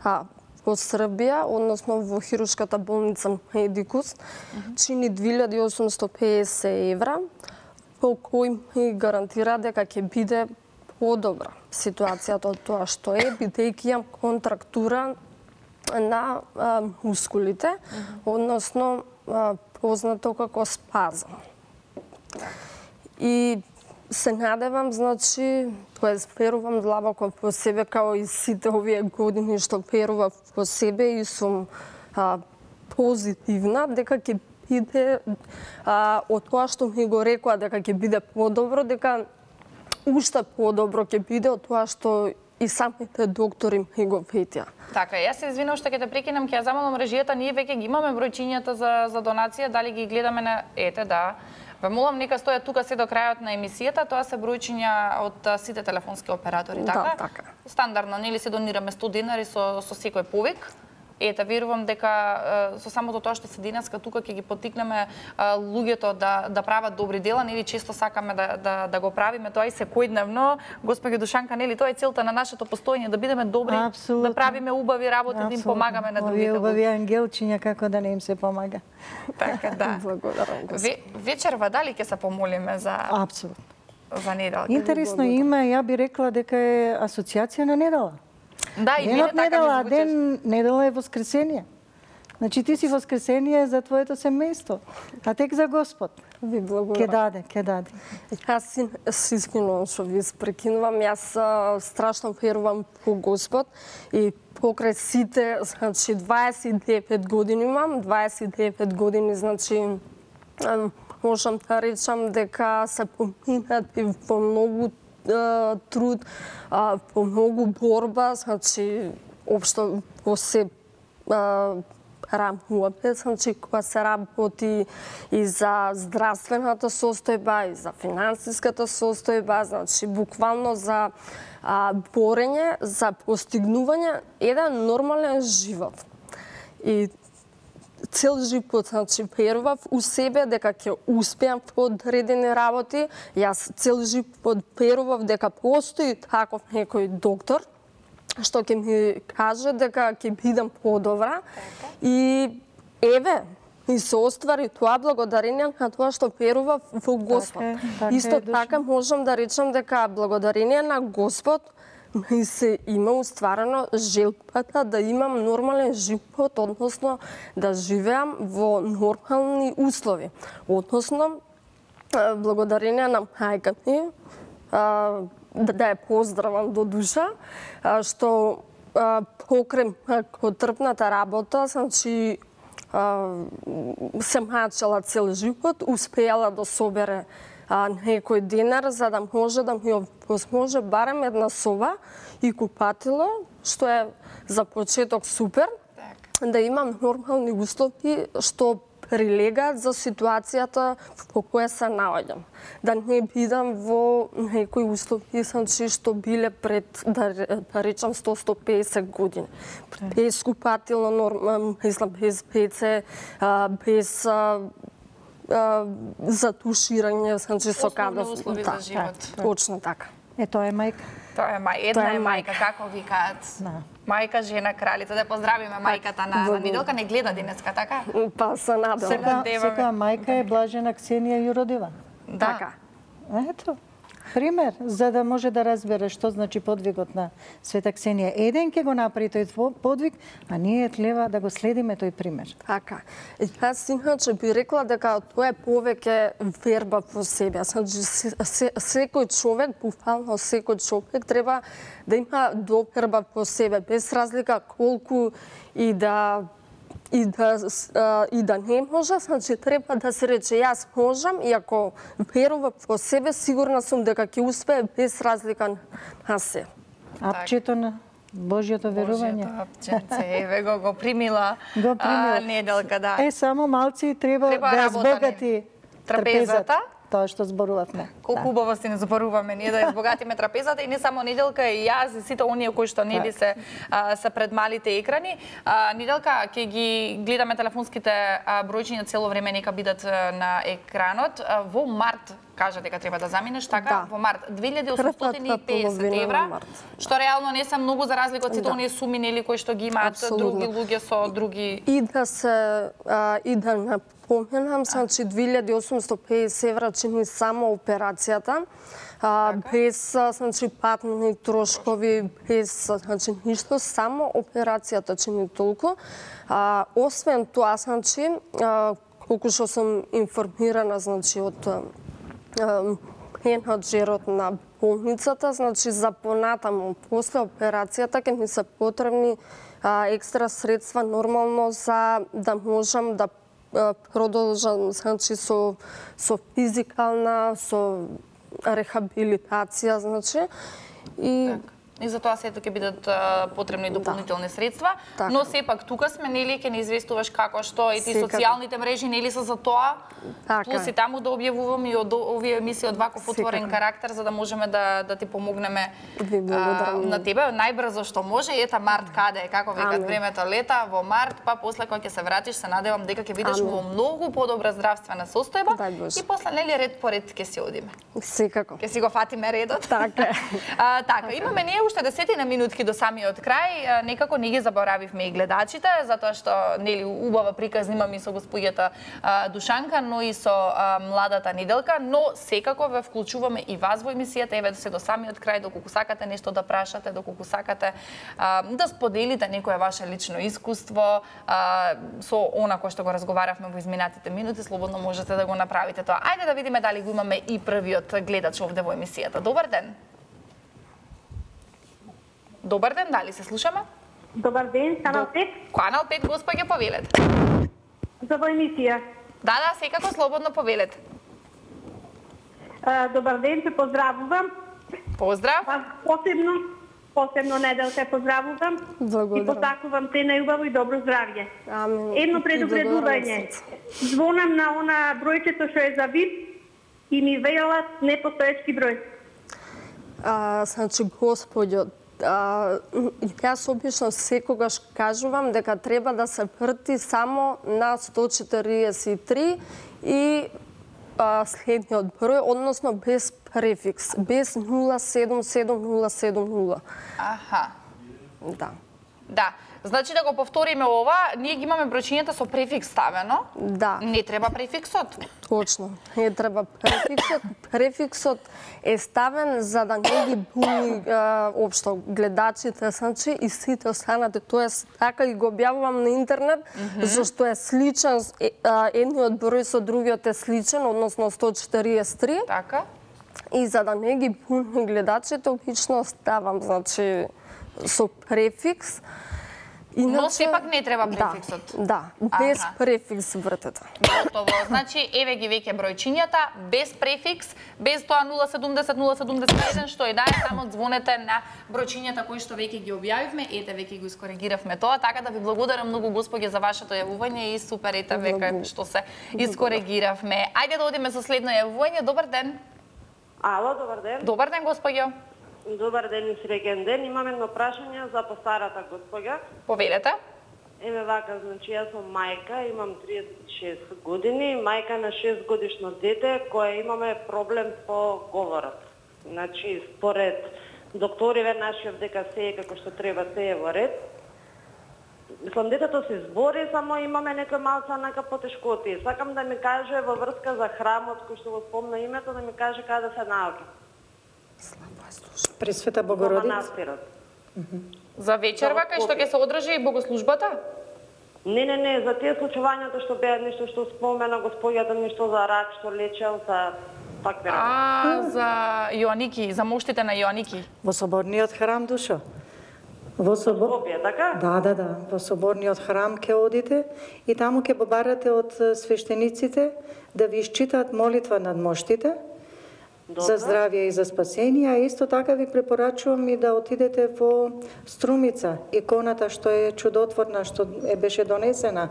Да, во Србија, односно во хируршката болница Медикус, mm-hmm. чини две илјади и осумсто педесет евра, по кој ми гарантира дека ќе биде подобра ситуацијата од тоа што е, бидејќи имам контрактура на а, мускулите, mm-hmm. односно а, познато како спазам. И се надевам, значи, тоест верувам длабоко во себе, као и сите овие години што верував во себе и сум а, позитивна, дека ќе биде а, од тоа што ми го рекоа дека ќе биде подобро, дека уште подобро ќе биде од тоа што и самите доктори ми го ветија. Така, јас се извинувам што ќе те прекинам, ќе ја замолам режијата, ние веќе ги имаме бројчињата за, за донација, дали ги гледаме на... Ете, да. Ве молам, нека стојат тука се до крајот на емисијата, тоа се бројчиња од сите телефонски оператори, така? Да, така. Стандардно, нели се донираме сто денари со, со секој повик. Ете, верувам дека со самото тоа што се денеска тука ќе ги поттикнеме луѓето да да прават добри дела, нели често сакаме да да да го правиме тоа и секојдневно. Госпоѓа Душанка, нели тоа е целта на нашето постоење, да бидеме добри, Абсолютно. Да правиме убави работи, Абсолютно. Да им помагаме на другите. Овие убави ангелчиња како да не им се помага. Така, да. Благодарам. Ве, вечерва дали ќе се помолиме за Апсолутно. За недела? Интересно име, ја би рекла дека е асоциација на недела. Да, и денот така недела, ми ден недела е воскресение. Значи ти си воскресение за твоето семејство, а тек за Господ. Ви благодарам. Ке даде, ке даде. Јас си, си извинувам што ви спрекинувам. Јас а, страшно верувам во Господ и покрај сите, значи дваесет и девет години имам, дваесет и девет години, значи а, можам да речам дека се поминати во многу а, труд, а, во многу борба, значи општо во се а, работи, значи кога се работи и за здравствената состојба, и за финансиската состојба, значи буквално за а, борење, за постигнување еден нормален живот. И цел живот, значи, верував у себе дека ќе успеам во одредени работи. Јас цел живот верував дека постои таков некој доктор што ќе ми каже дека ќе бидам подобра. И еве, и се оствари тоа благодарение на тоа што верував во Господ. Така е, така Исто е, така можам да речам дека благодарение на Господ ми се има устварено желбата да имам нормален живот, односно да живеам во нормални услови. Односно, благодарение на мајка ми, да ја поздравам до душа, што покрај трпната работа, значи се мачала цел живот, успеала да собере а, некој денар за да може да ми возможи барем една соба и купатило, што е за почеток супер, да имам нормални услови што прилегаат за ситуацијата во која се наоѓам. Да не бидам во некои услови значи, што биле пред, да, да речам, сто до сто и песет години. Без купатило, норм, без пеце, без а, а, затуширање, значи со када. Услови за живот. Точно така. Е, тоа е мајка. Тоа е мај, една Тоа е е мајка, како викаат. Да. Мајка, жена, кралица. Да поздравиме мајката на, на Неделка. Не гледа денеска, така? Па се надевам. Секоја, надеваме. секоја мајка е блажена Ксенија Јуродива. Да. Така. Ето, пример, за да може да разбере што значи подвигот на Света Ксенија. Еден ќе го направи тој подвиг, а ние треба да го следиме тој пример. Така. И јас иначе би рекла дека тоа е повеќе верба во себе. Значи, се, се, секој човек, буквално секој човек треба да има доверба во себе, без разлика колку и да и да и да не може, значи треба да се рече јас можам и ако верувам во себе, сигурна сум дека ќе успее без разлика на се. Апчето на Божјото верување. Божјото апченце, еве го го примила, Го примила. А, Неделка, да. Е, само малци треба, Треба да работа збогати трапезата. Тоа што зборувавме. Колку убаво си не зборуваме ние да избогатиме трапезата и не само Неделка и јас и сите оние кои што нели се а, се пред малите екрани. А, Неделка, ќе ги гледаме телефонските а, бројчиња цело време, нека бидат а, на екранот. А, во март кажа дека треба да заминеш, така? Да. Во март две илјади и осумстотини и песет евра, што реално не се многу за разлика од сите Да. оние суми нели кои што ги имаат Апсолутно. други луѓе со други. И да се а, и да напоменам, значи две илјади и осумстотини и песет евра чини само операцијата, а, без значи патни трошкови, без значи ништо, само операцијата чини толку. А, освен тоа, значи, а, колку што сум информирана, значи од а, менаџерот на болницата, значи за понатаму после операцијата ќе ми се потребни а, екстра средства нормално за да можам да а, продолжам значи со со физикална, со рехабилитација, значи и И за тоа сето ќе бидат а, потребни дополнителни средства, Така. но сепак тука сме нели ќе ни известуваш како што и ти Секако. социјалните мрежи нели се за тоа. Така Плюс е. и таму да објавуваме и од овие емисии од ваков отворен Секако. карактер за да можеме да да ти помогнеме Ви благодарам. на тебе најбрзо што може. Ета март каде е, како викат Ами. времето лета, во март, па после кога ќе се вратиш се надевам дека ќе бидеш Ами. во многу подобра здравствена состојба Дај Боже. и после нели ред по ред ќе си одиме. секако. Ќе си го фатиме редот. Така е. А, така, имаме ние уште десетина минутки до самиот крај. А, некако не ги заборавивме и гледачите, затоа што нели убава приказ имаме и со господјата а, Душанка, но и со а, младата Неделка, но секако ве вклучуваме и вас во емисијата, еве се до самиот крај, доколку сакате нешто да прашате, доколку сакате а, да споделите некое ваше лично искуство а, со она кој што го разговаравме во изминатите минути, слободно можете да го направите тоа. Ајде да видиме дали го имаме и првиот гледач овде во емисијата. Добар ден. Добар ден, дали се слушаме? Добар ден, Канал пет, Канал пет, господја, повелете. за во емисија. Да, да, секако слободно повелете. А, Добар ден, те поздравувам. Поздрав. Па, посебно, посебно Неделка те поздравувам. Благодарам. И посакувам те најубаво и добро здравје. Амин. Едно И предупредување. Звонам на она бројчето што е за ВИП и ми велат непостоечки број. А, значи, господјо, а, јас обично секогаш кажувам дека треба да се врти само на сто четириесет и три и а, следниот број, односно без префикс, без нула седум седум нула седум нула. Аха. Да. Да. Значи да го повториме ова, ние ги имаме бројчињата со префикс ставено. Да. Не треба префиксот. Точно, не треба префиксот. Префиксот е ставен за да не ги буни а, општо гледачите, значи и сите останати. Тоест, така и го објавувам на интернет, mm -hmm. зашто е сличен, е, а, едниот број со другиот е сличен, односно сто четириесет и три. Така. И за да не ги буни гледачите, обично ставам, значи, со префикс. Но сепак не треба префиксот. Да, да, без Аха. префикс вртете. Готово. Значи, еве ги веќе бројчињата, без префикс, без тоа нула седумдесет нула седумдесет и еден, што е да, само звонете на бројчињата кои што веќе ги објавивме, ете веќе го искоригиравме тоа, така да ви благодарам многу господи за вашето јавување и супер ете веќе што се искоригиравме. Ајде да одиме со следно јавување. Добар ден. Ало, добар ден. Добар ден, господјо. Добар ден и среќен ден. Имам едно прашање за постарата господја. Повелете. Еве вака, значи јас сум мајка, имам триесет и шест години, мајка на шест годишно дете кое имаме проблем по говорот. Значи, според докториве нашиот дека се е како што треба, се е во ред. Мислам, детето се збори, само имаме некој малца нака потешкоти. Сакам да ми каже во врска за храмот кој што го спомна името, да ми каже каде се наоѓа. Пресвета Во Богородица. манастирот. За вечерва кај што ќе се одржи богослужбата? Не, не, не, за тие случувањата што беа нешто што спомена господјата, нешто за рак што лечел, за такви работи. А, за Јоаники, за моштите на Јоаники. Во соборниот храм, Душо. Во собор... Скопје, така? Да, да, да. Во соборниот храм ќе одите и таму ќе побарате од свештениците да ви исчитаат молитва над моштите за здравје и за спасение, а исто така ви препорачувам и да отидете во Струмица, иконата што е чудотворна, што е беше донесена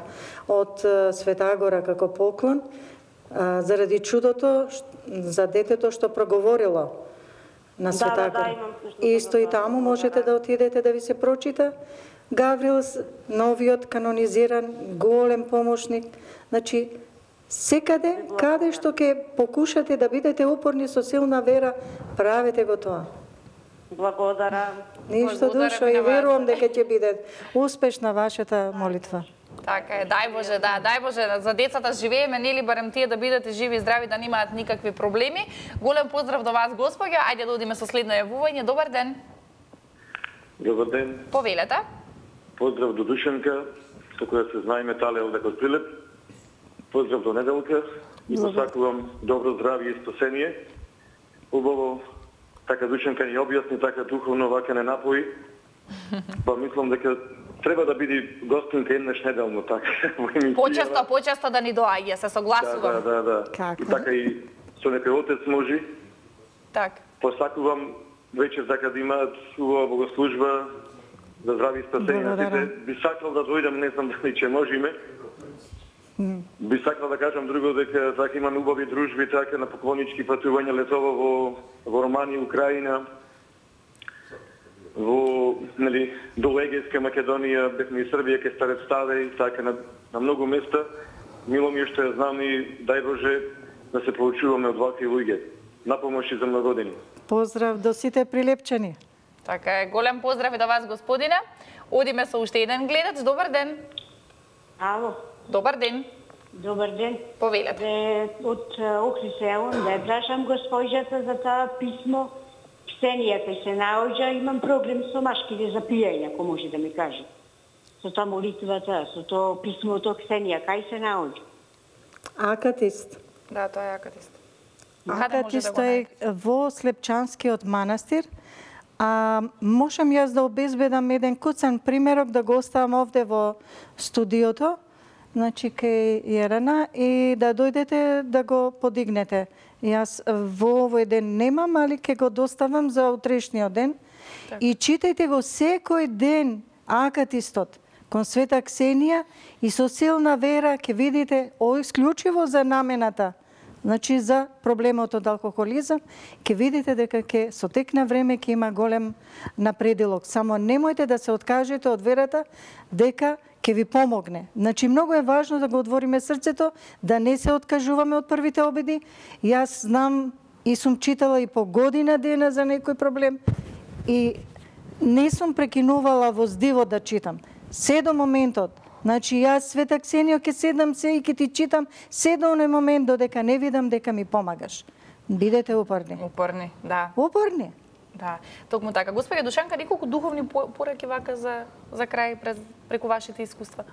од Света Агора како поклон, а, заради чудото за детето што проговорило на Света Да, да, да, Агора. имам слушно Исто и да, таму да, можете да. да отидете да ви се прочита. Гаврил, новиот канонизиран, голем помошник. Значи, секаде, каде што ќе покушате да бидете упорни со силна вера, правете го тоа. Благодарам. Ништо, Благодарам Душо, и на и вас. верувам дека ќе биде успешна вашата молитва. Така е, дај Боже, да, дај Боже, за децата живееме, нели барем тие да бидете живи и здрави, да немаат никакви проблеми. Голем поздрав до вас, господја. Ајде да одиме со следно јавување. Добар ден. Добар ден. Повелете. Поздрав до Душанка, со која се знаеме тале овде од Прилеп. Поздрав до Неделка и посакувам добро здравје и спасение. Убаво, така Душанка ни објасни, така духовно вака не напои. Па мислам дека треба да биде гостинка еднаш неделно, така, во емисија. Почесто, почесто да ни доаѓа, се Да, согласувам. да, да, да. Како? И така и со некој отец може. Так. Посакувам вечер така да имаат убава богослужба за здравје и спасение на Благодарам. сите. Би сакал да дојдам, не знам дали ќе можеме. Би сакал да кажам друго дека така имаме убави дружби така на поклонички патувања летово во во Романија, Украина, во нели до Егејска Македонија, бевме и Србија, ке Старец Стаде и така на, на многу места. Мило ми е што ја знам и дај Боже да се поучуваме од вакви луѓе. Напомоши за многу години. Поздрав до сите прилепчани. Така е, голем поздрав и до вас, господине. Одиме со уште еден гледач. Добар ден. Ало, Добар ден. добар ден. Повелете. Е, од Охри село, да ја прашам госпојата за тоа писмо. Ксенија кај се наоѓа, имам проблем со машките за пиење, ако може да ми каже. Со тоа молитвата, со тоа писмото Ксенија, кај се наоѓа? Акатист. Да, тоа е акатист. Акатист е во Слепчанскиот манастир. А можам јас да обезбедам еден куцан примерок да го оставам овде во студиото, значи кај Јерена, и да дојдете да го подигнете. Јас во овој ден немам, али ќе го доставам за утрешниот ден. И читајте го секој ден Акатистот кон Света Ксенија и со силна вера ќе видите о исклучиво за намената. Значи за проблемот од алкохолизам, ќе видите дека ќе со тек на време ќе има голем напредилок. Само немојте да се откажете од верата дека ќе ви помогне. Значи многу е важно да го отвориме срцето, да не се откажуваме од првите обиди. Јас знам и сум читала и по година дена за некој проблем и не сум прекинувала во здиво да читам. Се до моментот. Значи јас, Света Ксенијо, ќе седам се и ќе ти читам се до оној момент додека не видам дека ми помагаш. Бидете упорни. Упорни, да. Упорни. Да, токму така. Господја Душанка, неколку духовни пораки вака за за крај през, преку вашите искуства?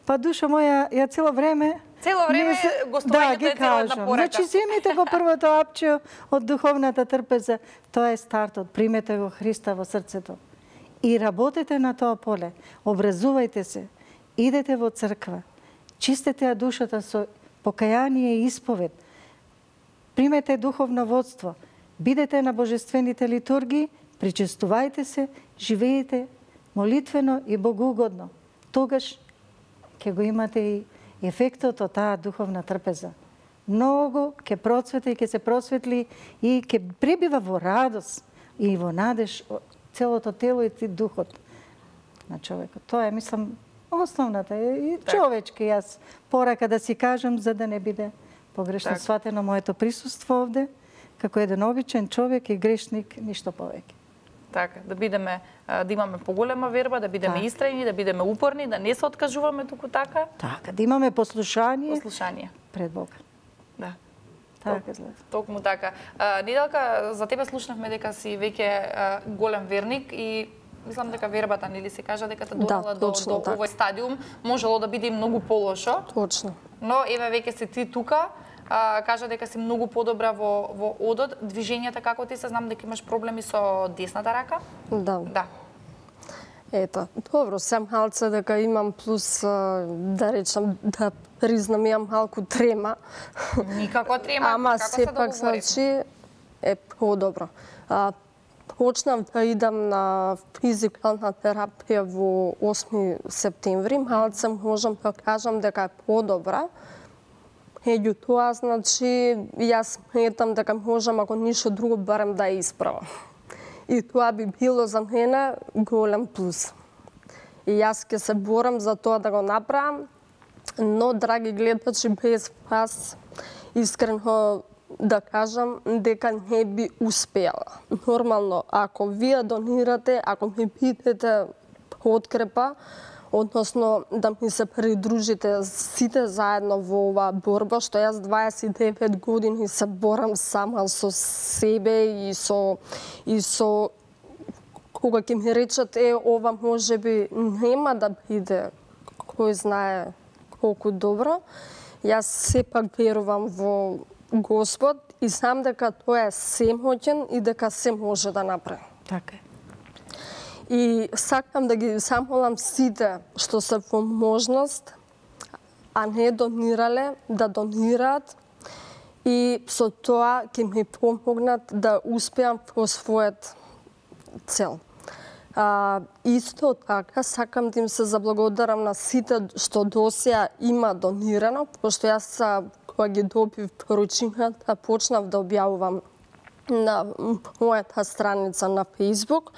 Па душа моја, ја цело време Цело време гостувањето да, ги е цела една кажам. порака. Значи земете го првото апче од духовната трпеза. Тоа е стартот. Примете го Христа во срцето. И работете на тоа поле, образувајте се, идете во црква, чистете ја душата со покаяние и исповед, примете духовно водство, бидете на божествените литургии, причестувајте се, живеете молитвено и богоугодно. Тогаш ќе го имате и ефектот од таа духовна трпеза. Многу ќе процвети и ќе се просветли и ќе пребива во радост и во надеж целото тело и духот на човекот. Тоа е, мислам, основната и човечки јас порака да си кажам за да не биде погрешно так. Сватено моето присуство овде, како еден обичен човек и грешник, ништо повеќе. Така, да бидеме, да имаме поголема верба, да бидеме так. Истрајни, да бидеме упорни, да не се откажуваме туку така. Така, да имаме послушание. Послушание. Пред Бога. Да. Така изгледа. Токму така. Неделка, за тебе слушнавме дека си веќе голем верник и мислам дека вербата, нели се кажа, дека те довела да, до, до така. Овој стадиум, можело да биде и многу полошо. Точно. Но еве веќе си ти тука, а, кажа дека си многу подобра во, во одот. Движењата како ти се, знам дека имаш проблеми со десната рака? Да. Да. Ето, добро, сам малце дека имам плюс, да речам, да признам, имам малку трема. Никако трема, ама како се сепак, значи, е по-добро. Почнав да идам на физикална терапија во осми септември, малце можам да кажам дека е по-добра. Меѓутоа, значи, јас сметам дека можам, ако ништо друго, барем да ја исправам. И тоа би било за мене голем плюс. И јас ќе се борам за тоа да го направам, но, драги гледачи, без вас, искрено да кажам, дека не би успеала. Нормално, ако вие донирате, ако ми бидете подкрепа, односно да ми се придружите сите заедно во оваа борба, што јас дваесет и девет години се борам сама со себе и со и со кога ќе ми речат е ова можеби нема да биде кој знае колку добро, јас сепак верувам во Господ и знам дека тој е семоќен и дека се може да направи. Така е. И сакам да ги замолам сите што се во можност, а не донирале, да донираат и со тоа ќе ми помогнат да успеам во својот цел. А, исто така сакам да им се заблагодарам на сите што досеја има донирано, пошто јас кога ги добив поручињата почнав да објавувам на мојата страница на Facebook,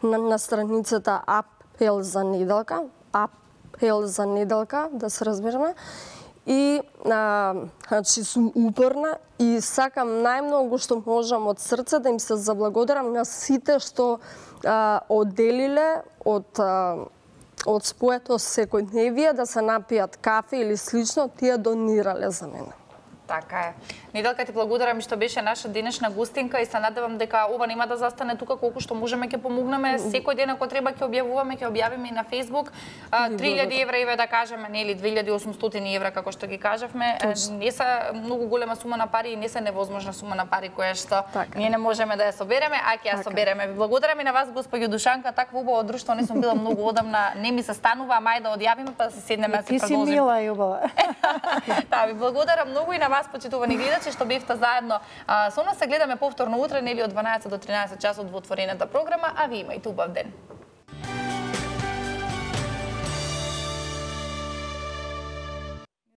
на, на страницата Апел за неделка, Апел за неделка, да се разбереме. И, а, значи, сум упорна и сакам најмногу што можам од срце да им се заблагодарам на сите што а, одделиле од, а, од своето секојдневие да се напијат кафе или слично, тие донирале за мене. Така е. Неделка, ти благодарам што беше наша денешна гостинка и се надевам дека ова нема да застане тука, колку што можеме ќе помогнеме. Секој ден ако треба ќе објавуваме, ќе објавиме и на Facebook. три илјади евра, еве да кажеме, нели две илјади и осумстотини евра како што ги кажавме. Не се многу голема сума на пари и не се невозможна сума на пари која што така. Ние не можеме да ја собереме, а ќе ја така. собереме. Ви благодарам и на вас, госпоѓо Душанка, такво убаво друштво не сум била многу одамна, не ми се станува, ама ајде да одјавиме па да се седнеме да се продолжиме. Ти си мила и убава. Да, ви благодарам многу и на вас, почитувани гледачи, што бевте заедно а, со нас. Се гледаме повторно утре, нели од дванаесет до тринаесет часот во отворената програма, а ви имајте убав ден.